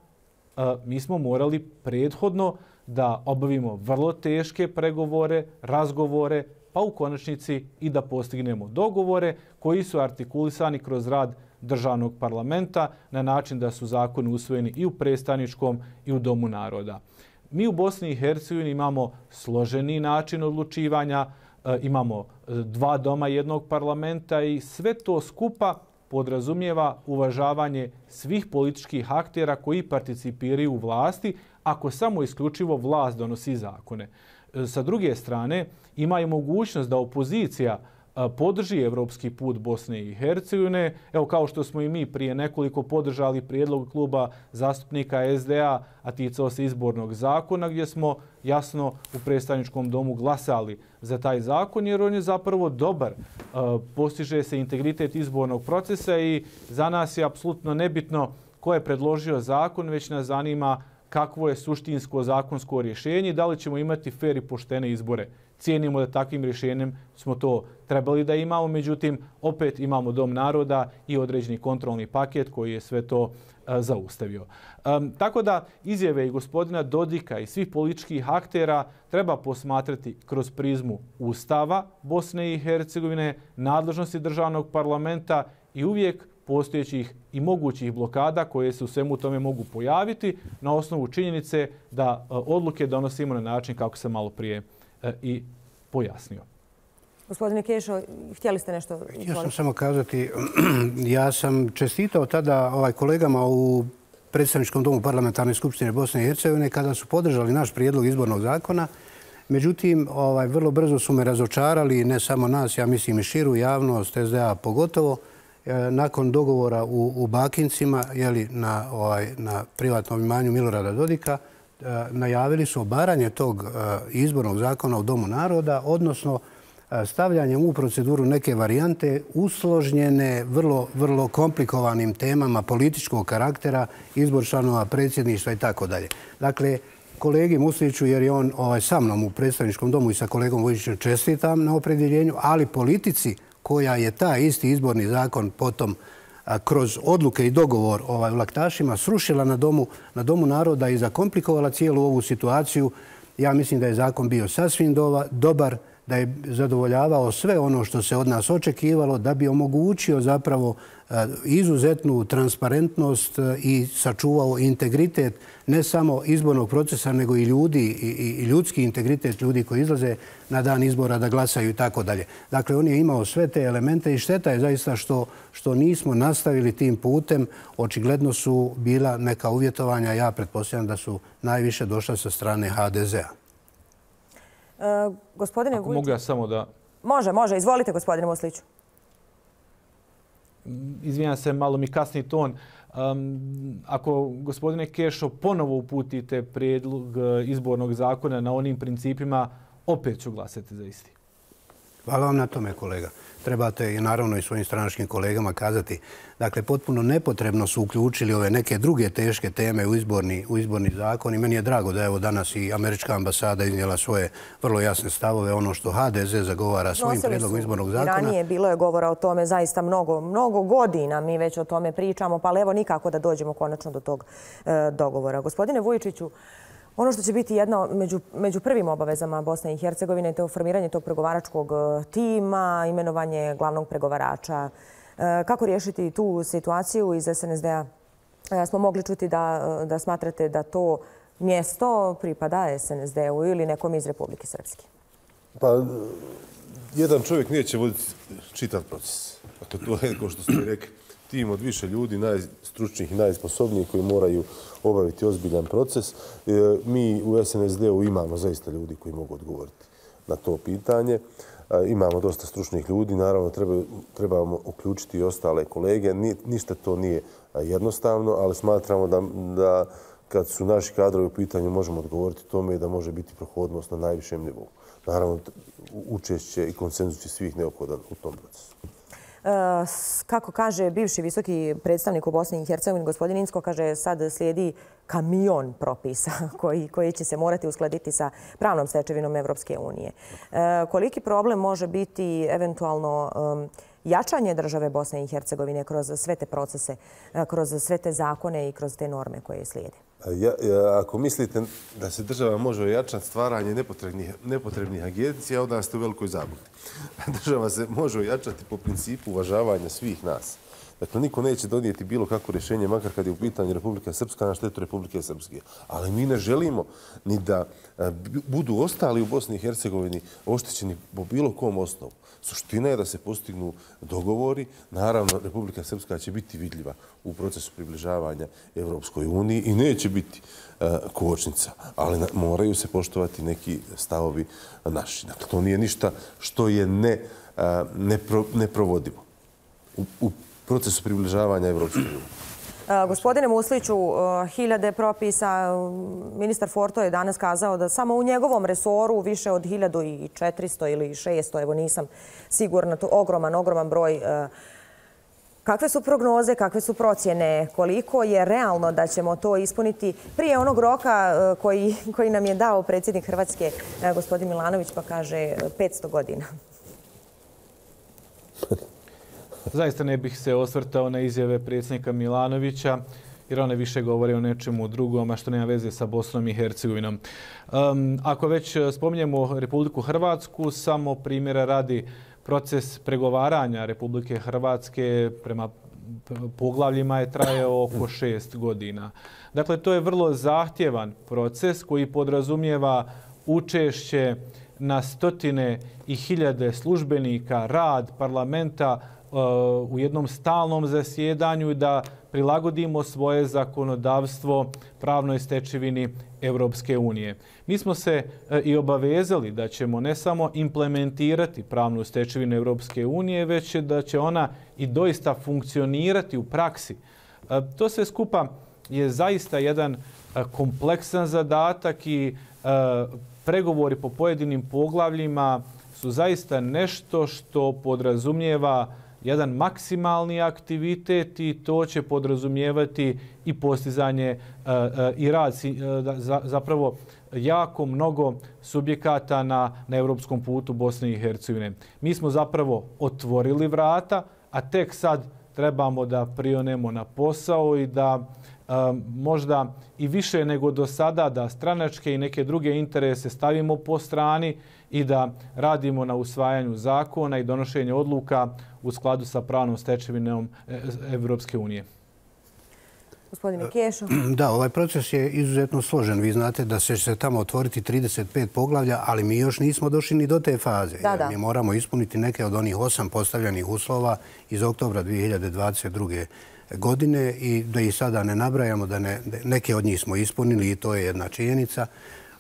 D: mi smo morali prethodno da obavimo vrlo teške pregovore, razgovore, pa u konačnici i da postignemo dogovore koji su artikulisani kroz rad državnog parlamenta na način da su zakoni usvojeni i u predstavničkom i u Domu naroda. Mi u Bosni i Hercegovini imamo složeni način odlučivanja, imamo dva doma jednog parlamenta i sve to skupa podrazumijeva uvažavanje svih političkih aktera koji participiraju u vlasti, ako samo isključivo vlast donosi zakone. Sa druge strane, ima i mogućnost da opozicija podrži evropski put Bosne i Hercegovine. Evo, kao što smo i mi prije nekoliko podržali prijedlog kluba zastupnika es de a, a ticao se izbornog zakona, gdje smo jasno u predstavničkom domu glasali za taj zakon, jer on je zapravo dobar. Postiže se integritet izbornog procesa i za nas je apsolutno nebitno ko je predložio zakon, već nas zanima kakvo je suštinsko zakonsko rješenje i da li ćemo imati fer i poštene izbore. Cijenimo da takvim rješenjem smo to trebali da imamo, međutim, opet imamo Dom naroda i određeni kontrolni paket koji je sve to a, zaustavio. Um, tako da izjave i gospodina Dodika i svih političkih aktera treba posmatrati kroz prizmu Ustava Bosne i Hercegovine, nadležnosti državnog parlamenta i uvijek postojećih i mogućih blokada koje se u svemu tome mogu pojaviti na osnovu činjenice da odluke donosimo na način kako sam malo prije i pojasnio.
A: Gospodine Kešo, htjeli ste nešto?
B: Htio sam samo kazati, ja sam čestitao tada ovaj kolegama u predstavničkom domu Parlamentarne skupštine Bosne i Hercegovine kada su podržali naš prijedlog izbornog zakona. Međutim, ovaj, vrlo brzo su me razočarali, ne samo nas, ja mislim i širu javnost, es de a pogotovo, nakon dogovora u, u Bakincima, jeli, na, ovaj, na privatnom imanju Milorada Dodika, najavili su obaranje tog izbornog zakona u Domu naroda, odnosno stavljanjem u proceduru neke varijante usložnjene vrlo, vrlo komplikovanim temama političkog karaktera, izbor članova predsjedništva i tako dalje. Dakle, kolegi Musliću, jer je on ovaj, sa mnom u predstavničkom domu i sa kolegom Vujićem, čestitam na opredjeljenju, ali politici koja je taj isti izborni zakon potom kroz odluke i dogovor ovaj, laktašima srušila na domu, na domu naroda i zakomplikovala cijelu ovu situaciju. Ja mislim da je zakon bio sasvim dobar, da je zadovoljavao sve ono što se od nas očekivalo, da bi omogućio zapravo izuzetnu transparentnost i sačuvao integritet ne samo izbornog procesa, nego i ljudi i ljudski integritet ljudi koji izlaze na dan izbora da glasaju i tako dalje. Dakle, on je imao sve te elemente i šteta je zaista što, što nismo nastavili tim putem. Očigledno su bila neka uvjetovanja, ja pretpostavljam da su najviše došla sa strane ha de zea.
A: Uh, gospodine
D: Ako mogu ja samo da...
A: Može, može. Izvolite, gospodine Musliću.
D: Izvinjam se, malo mi kasni ton. Um, ako, gospodine Kešo, ponovo uputite prijedlog izbornog zakona na onim principima, opet ću glasati za isti.
B: Hvala vam na tome, kolega. Trebate i naravno i svojim stranačkim kolegama kazati. Dakle, potpuno nepotrebno su uključili ove neke druge teške teme u izborni, u izborni zakon i meni je drago da evo danas i američka ambasada iznijela svoje vrlo jasne stavove, ono što ha de ze zagovara svojim prijedlogom izbornog zakona.
A: I ranije bilo je govora o tome zaista mnogo, mnogo godina mi već o tome pričamo, pa evo nikako da dođemo konačno do tog e, dogovora. Gospodine Vujičiću, ono što će biti jedno među, među prvim obavezama Bosne i Hercegovine je to formiranje tog pregovaračkog tima, imenovanje glavnog pregovarača. Kako riješiti tu situaciju iz es en es de a? Smo mogli čuti da, da smatrate da to mjesto pripada es en es de u ili nekom iz Republike Srpske.
C: Pa, jedan čovjek neće voditi čitav proces. Dakle, to je, kao što ste rekli, tim od više ljudi, najstručnijih i najsposobnijih koji moraju obaviti ozbiljan proces. Mi u S N S D-u imamo zaista ljudi koji mogu odgovoriti na to pitanje. Imamo dosta stručnih ljudi, naravno trebamo uključiti i ostale kolege. Ništa to nije jednostavno, ali smatramo da kad su naši kadrovi u pitanju možemo odgovoriti tome i da može biti prohodnost na najvišem nivou. Naravno, učešće i konsenzus je svih neophodan u tom procesu.
A: Kako kaže bivši visoki predstavnik u Bosni i Hercegovini, gospodin Incko, kaže sad slijedi kamion propisa koji, koji će se morati uskladiti sa pravnom stečevinom Evropske unije. Koliki problem može biti eventualno jačanje države Bosne i Hercegovine kroz sve te procese, kroz sve te zakone i kroz te norme koje slijede?
C: Ja, ja, ako mislite da se država može ojačati stvaranje nepotrebnih, nepotrebnih agencija, onda ste u velikoj zabludi. Država se može ojačati po principu uvažavanja svih nas. Dakle, niko neće donijeti bilo kakvo rješenje, makar kad je u pitanju Republika Srpska na štetu Republike Srpske. Ali mi ne želimo ni da budu ostali u Bosni i Hercegovini oštećeni po bilo kom osnovu. Suština je da se postignu dogovori. Naravno, Republika Srpska će biti vidljiva u procesu približavanja Evropskoj uniji i neće biti kočnica, ali moraju se poštovati neki stavovi naši. Dakle, to nije ništa što je ne, nepro, neprovodivo u, u procesu približavanja Evropskoj uniji.
A: Gospodine Musliću, hiljade propisa, ministar Forto je danas kazao da samo u njegovom resoru više od hiljadu četiristo ili šesto, evo nisam sigurna, to ogroman, ogroman broj. Kakve su prognoze, kakve su procjene, koliko je realno da ćemo to ispuniti prije onog roka koji, koji nam je dao predsjednik Hrvatske, gospodin Milanović, pa kaže petsto godina?
D: Zaista ne bih se osvrtao na izjave predsjednika Milanovića, jer one više govore o nečemu drugom, a što nema veze sa Bosnom i Hercegovinom. Um, ako već spominjemo Republiku Hrvatsku, samo primjera radi proces pregovaranja Republike Hrvatske prema poglavljima je trajao oko šest godina. Dakle, to je vrlo zahtjevan proces koji podrazumijeva učešće na stotine i hiljade službenika, rad parlamenta u jednom stalnom zasjedanju i da prilagodimo svoje zakonodavstvo pravnoj stečevini Evropske unije. Mi smo se i obavezali da ćemo ne samo implementirati pravnu stečevinu Evropske unije, već da će ona i doista funkcionirati u praksi. To sve skupa je zaista jedan kompleksan zadatak i pregovori po pojedinim poglavljima su zaista nešto što podrazumijeva jedan maksimalni aktivitet i to će podrazumijevati i postizanje i rad zapravo jako mnogo subjekata na, na europskom putu Bosne i Hercegovine. Mi smo zapravo otvorili vrata, a tek sad trebamo da prionemo na posao i da možda i više nego do sada da stranačke i neke druge interese stavimo po strani i da radimo na usvajanju zakona i donošenju odluka u skladu sa pravnom stečevinom Evropske unije.
A: Gospodine Kešo.
B: Da, ovaj proces je izuzetno složen. Vi znate da će se tamo otvoriti trideset pet poglavlja, ali mi još nismo došli ni do te faze.
A: Da, da.
B: Mi moramo ispuniti neke od onih osam postavljenih uslova iz oktobra dvije hiljade dvadeset druge godine i da ih sada ne nabrajamo, da ne, neke od njih smo ispunili i to je jedna činjenica.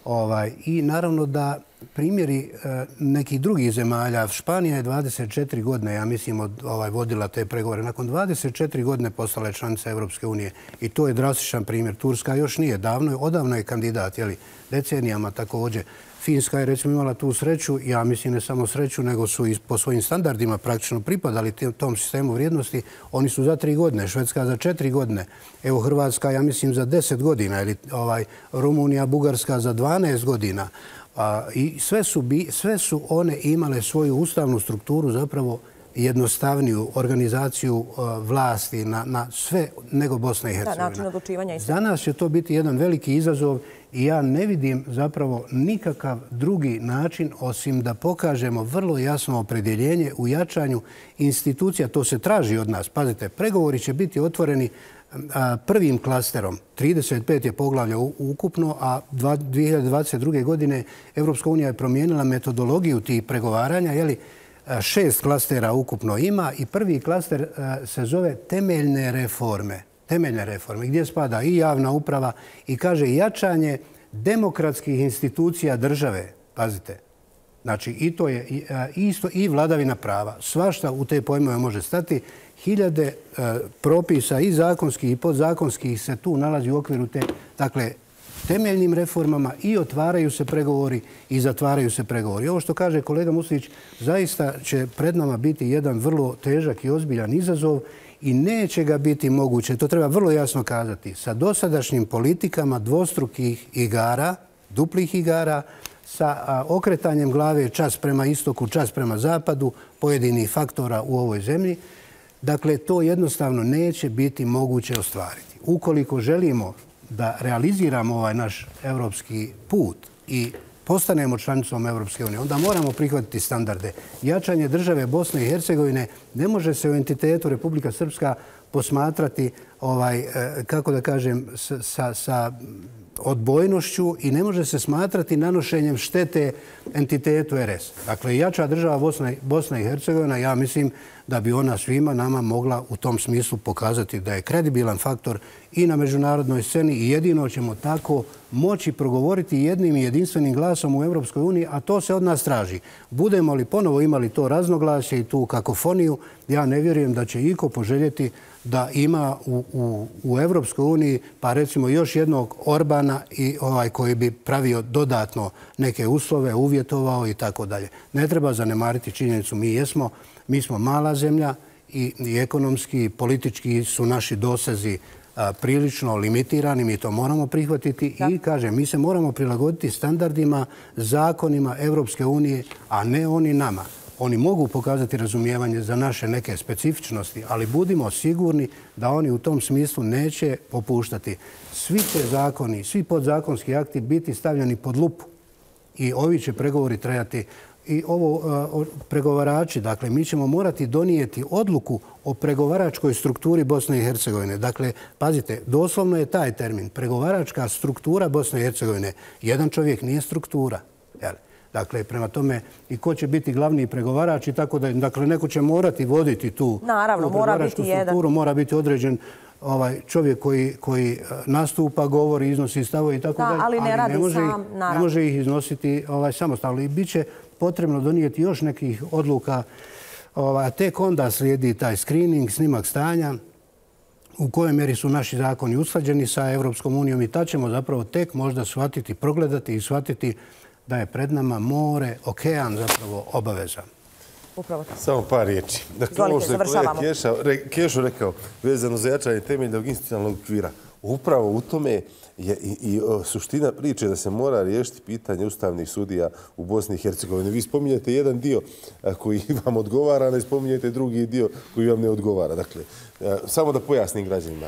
B: Ovaj, I naravno da primjeri e, nekih drugih zemalja, Španija je dvadeset četiri godine, ja mislim, od, ovaj, vodila te pregovore. Nakon dvadeset četiri godine postala je članica Evropske unije i to je drastičan primjer. Turska još nije davno, odavno je kandidat, jeli, decenijama također. Finska je recimo imala tu sreću, ja mislim ne samo sreću, nego su i po svojim standardima praktično pripadali tom sistemu vrijednosti. Oni su za tri godine, Švedska za četiri godine, evo Hrvatska ja mislim za deset godina, ili ovaj, Rumunija, Bugarska za dvanaest godina. A, I sve su, bi, sve su one imale svoju ustavnu strukturu, zapravo jednostavniju organizaciju uh, vlasti na, na sve nego Bosna i Hercegovina.
A: Da, način odlučivanja i sve.
B: Za nas će to biti jedan veliki izazov i ja ne vidim zapravo nikakav drugi način osim da pokažemo vrlo jasno opredjeljenje u jačanju institucija. To se traži od nas. Pazite, pregovori će biti otvoreni a, prvim klasterom. trideset pet je poglavlja ukupno, a dvije hiljade dvadeset druge godine Evropska unija je promijenila metodologiju tih pregovaranja, jeli, Šest klastera ukupno ima i prvi klaster se zove temeljne reforme. Temeljne reforme, gdje spada i javna uprava i kaže jačanje demokratskih institucija države. Pazite. Znači, i to je isto i vladavina prava. Svašta u te pojmove može stati. Hiljade propisa i zakonskih i podzakonskih se tu nalazi u okviru te, dakle, temeljnim reformama i otvaraju se pregovori i zatvaraju se pregovori. Ovo što kaže kolega Muslić, zaista će pred nama biti jedan vrlo težak i ozbiljan izazov i neće ga biti moguće, to treba vrlo jasno kazati, sa dosadašnjim politikama dvostrukih igara, duplih igara, sa okretanjem glave čas prema istoku, čas prema zapadu, pojedinih faktora u ovoj zemlji. Dakle, to jednostavno neće biti moguće ostvariti. Ukoliko želimo da realiziramo ovaj naš evropski put i postanemo članicom Evropske unije, onda moramo prihvatiti standarde. Jačanje države Bosne i Hercegovine ne može se u entitetu Republika Srpska posmatrati, ovaj, kako da kažem, sa, sa odbojnošću i ne može se smatrati nanošenjem štete entitetu R S. Dakle, jača država Bosna, Bosna i Hercegovina, ja mislim da bi ona svima nama mogla u tom smislu pokazati da je kredibilan faktor i na međunarodnoj sceni i jedino ćemo tako moći progovoriti jednim i jedinstvenim glasom u Evropskoj uniji, a to se od nas traži. Budemo li ponovo imali to raznoglasje i tu kakofoniju, ja ne vjerujem da će iko poželjeti da ima u, u, u Evropskoj uniji, pa recimo još jednog Orbana i ovaj koji bi pravio dodatno neke uslove, uvjetovao i tako dalje. Ne treba zanemariti činjenicu, mi jesmo, mi smo mala zemlja i, i ekonomski i politički su naši dosezi a, prilično limitirani, mi to moramo prihvatiti da. I kažem, mi se moramo prilagoditi standardima, zakonima Evropske unije, a ne oni nama. Oni mogu pokazati razumijevanje za naše neke specifičnosti, ali budimo sigurni da oni u tom smislu neće popuštati. Svi će zakoni, svi podzakonski akti biti stavljeni pod lupu i ovi će pregovori trajati. I ovo pregovarači, dakle, mi ćemo morati donijeti odluku o pregovaračkoj strukturi Bosne i Hercegovine. Dakle, pazite, doslovno je taj termin. Pregovaračka struktura Bosne i Hercegovine. Jedan čovjek nije struktura. Jel? Dakle, prema tome i ko će biti glavni pregovarač i tako da, dakle, neko će morati voditi tu,
A: Naravno,
B: tu
A: mora biti
B: strukturu,
A: jedan.
B: Mora biti određen ovaj čovjek koji, koji nastupa, govori, iznosi stavove i tako
A: da,
B: dalje,
A: ali ne,
B: ali
A: radi
B: ne može,
A: sam,
B: ih, ne može ih iznositi ovaj, samostalno. I bit će potrebno donijeti još nekih odluka, ovaj, a tek onda slijedi taj screening, snimak stanja, u kojoj mjeri su naši zakoni usklađeni sa Evropskom unijom i tad ćemo zapravo tek možda shvatiti, progledati i shvatiti da je pred nama more, okean zapravo obaveza.
A: Upravo tako.
C: Samo par riječi. Dakle,
A: Izvolite,
C: ovo što je kolega
A: završavamo.
C: Kešo rekao, vezano za jačanje temeljnog institucionalnog okvira, upravo u tome je i, i suština priče da se mora riješiti pitanje ustavnih sudija u Bosni i Hercegovini. Vi spominjete jedan dio koji vam odgovara, ne spominjete drugi dio koji vam ne odgovara. Dakle, samo da pojasnim građanima,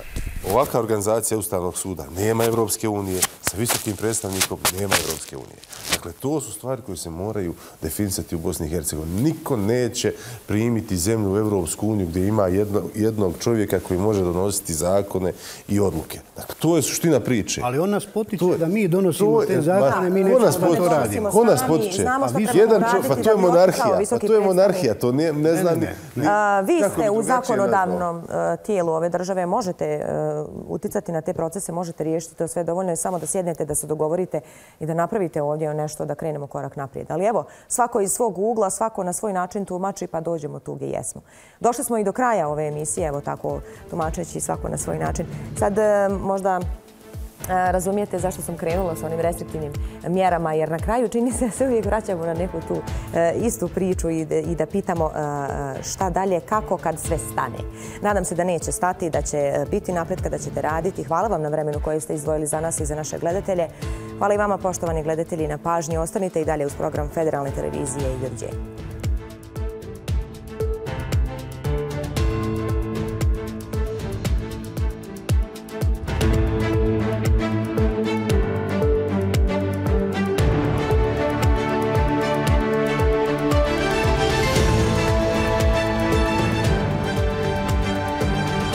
C: ovakva organizacija Ustavnog suda nema Evropske unije, sa visokim predstavnikom nema Evropske unije. Dakle, to su stvari koje se moraju definisati u Bosni i Hercegovini. Niko neće primiti zemlju u Evropsku uniju gdje ima jedno, jednog čovjeka koji može donositi zakone i odluke. Dakle, to je suština priče.
B: Ali on nas potiče da mi donosimo te zakone, mi nećemo da to radimo.
C: Ko nas potiče? Pa to je monarhija. Pa to je monarhija. To ne, ne znam...
A: Ne, ne. A, vi ste u zakonodavnom tijelu ove države, možete uticati na te procese, možete riješiti to sve. Dovoljno je samo da sjednete, da se dogovorite i da napravite ovdje nešto, da krenemo korak naprijed. Ali evo, svako iz svog ugla, svako na svoj način tumači, pa dođemo tu gdje jesmo. Došli smo i do kraja ove emisije, evo tako tumačeći svako na svoj način. Sad možda razumijete zašto sam krenula s onim restriktivnim mjerama, jer na kraju čini se da se uvijek vraćamo na neku tu istu priču i da pitamo šta dalje, kako kad sve stane. Nadam se da neće stati, da će biti napretka, da ćete raditi. Hvala vam na vremenu koje ste izdvojili za nas i za naše gledatelje. Hvala i vama, poštovani gledatelji, na pažnji. Ostanite i dalje uz program Federalne televizije i doviđenja.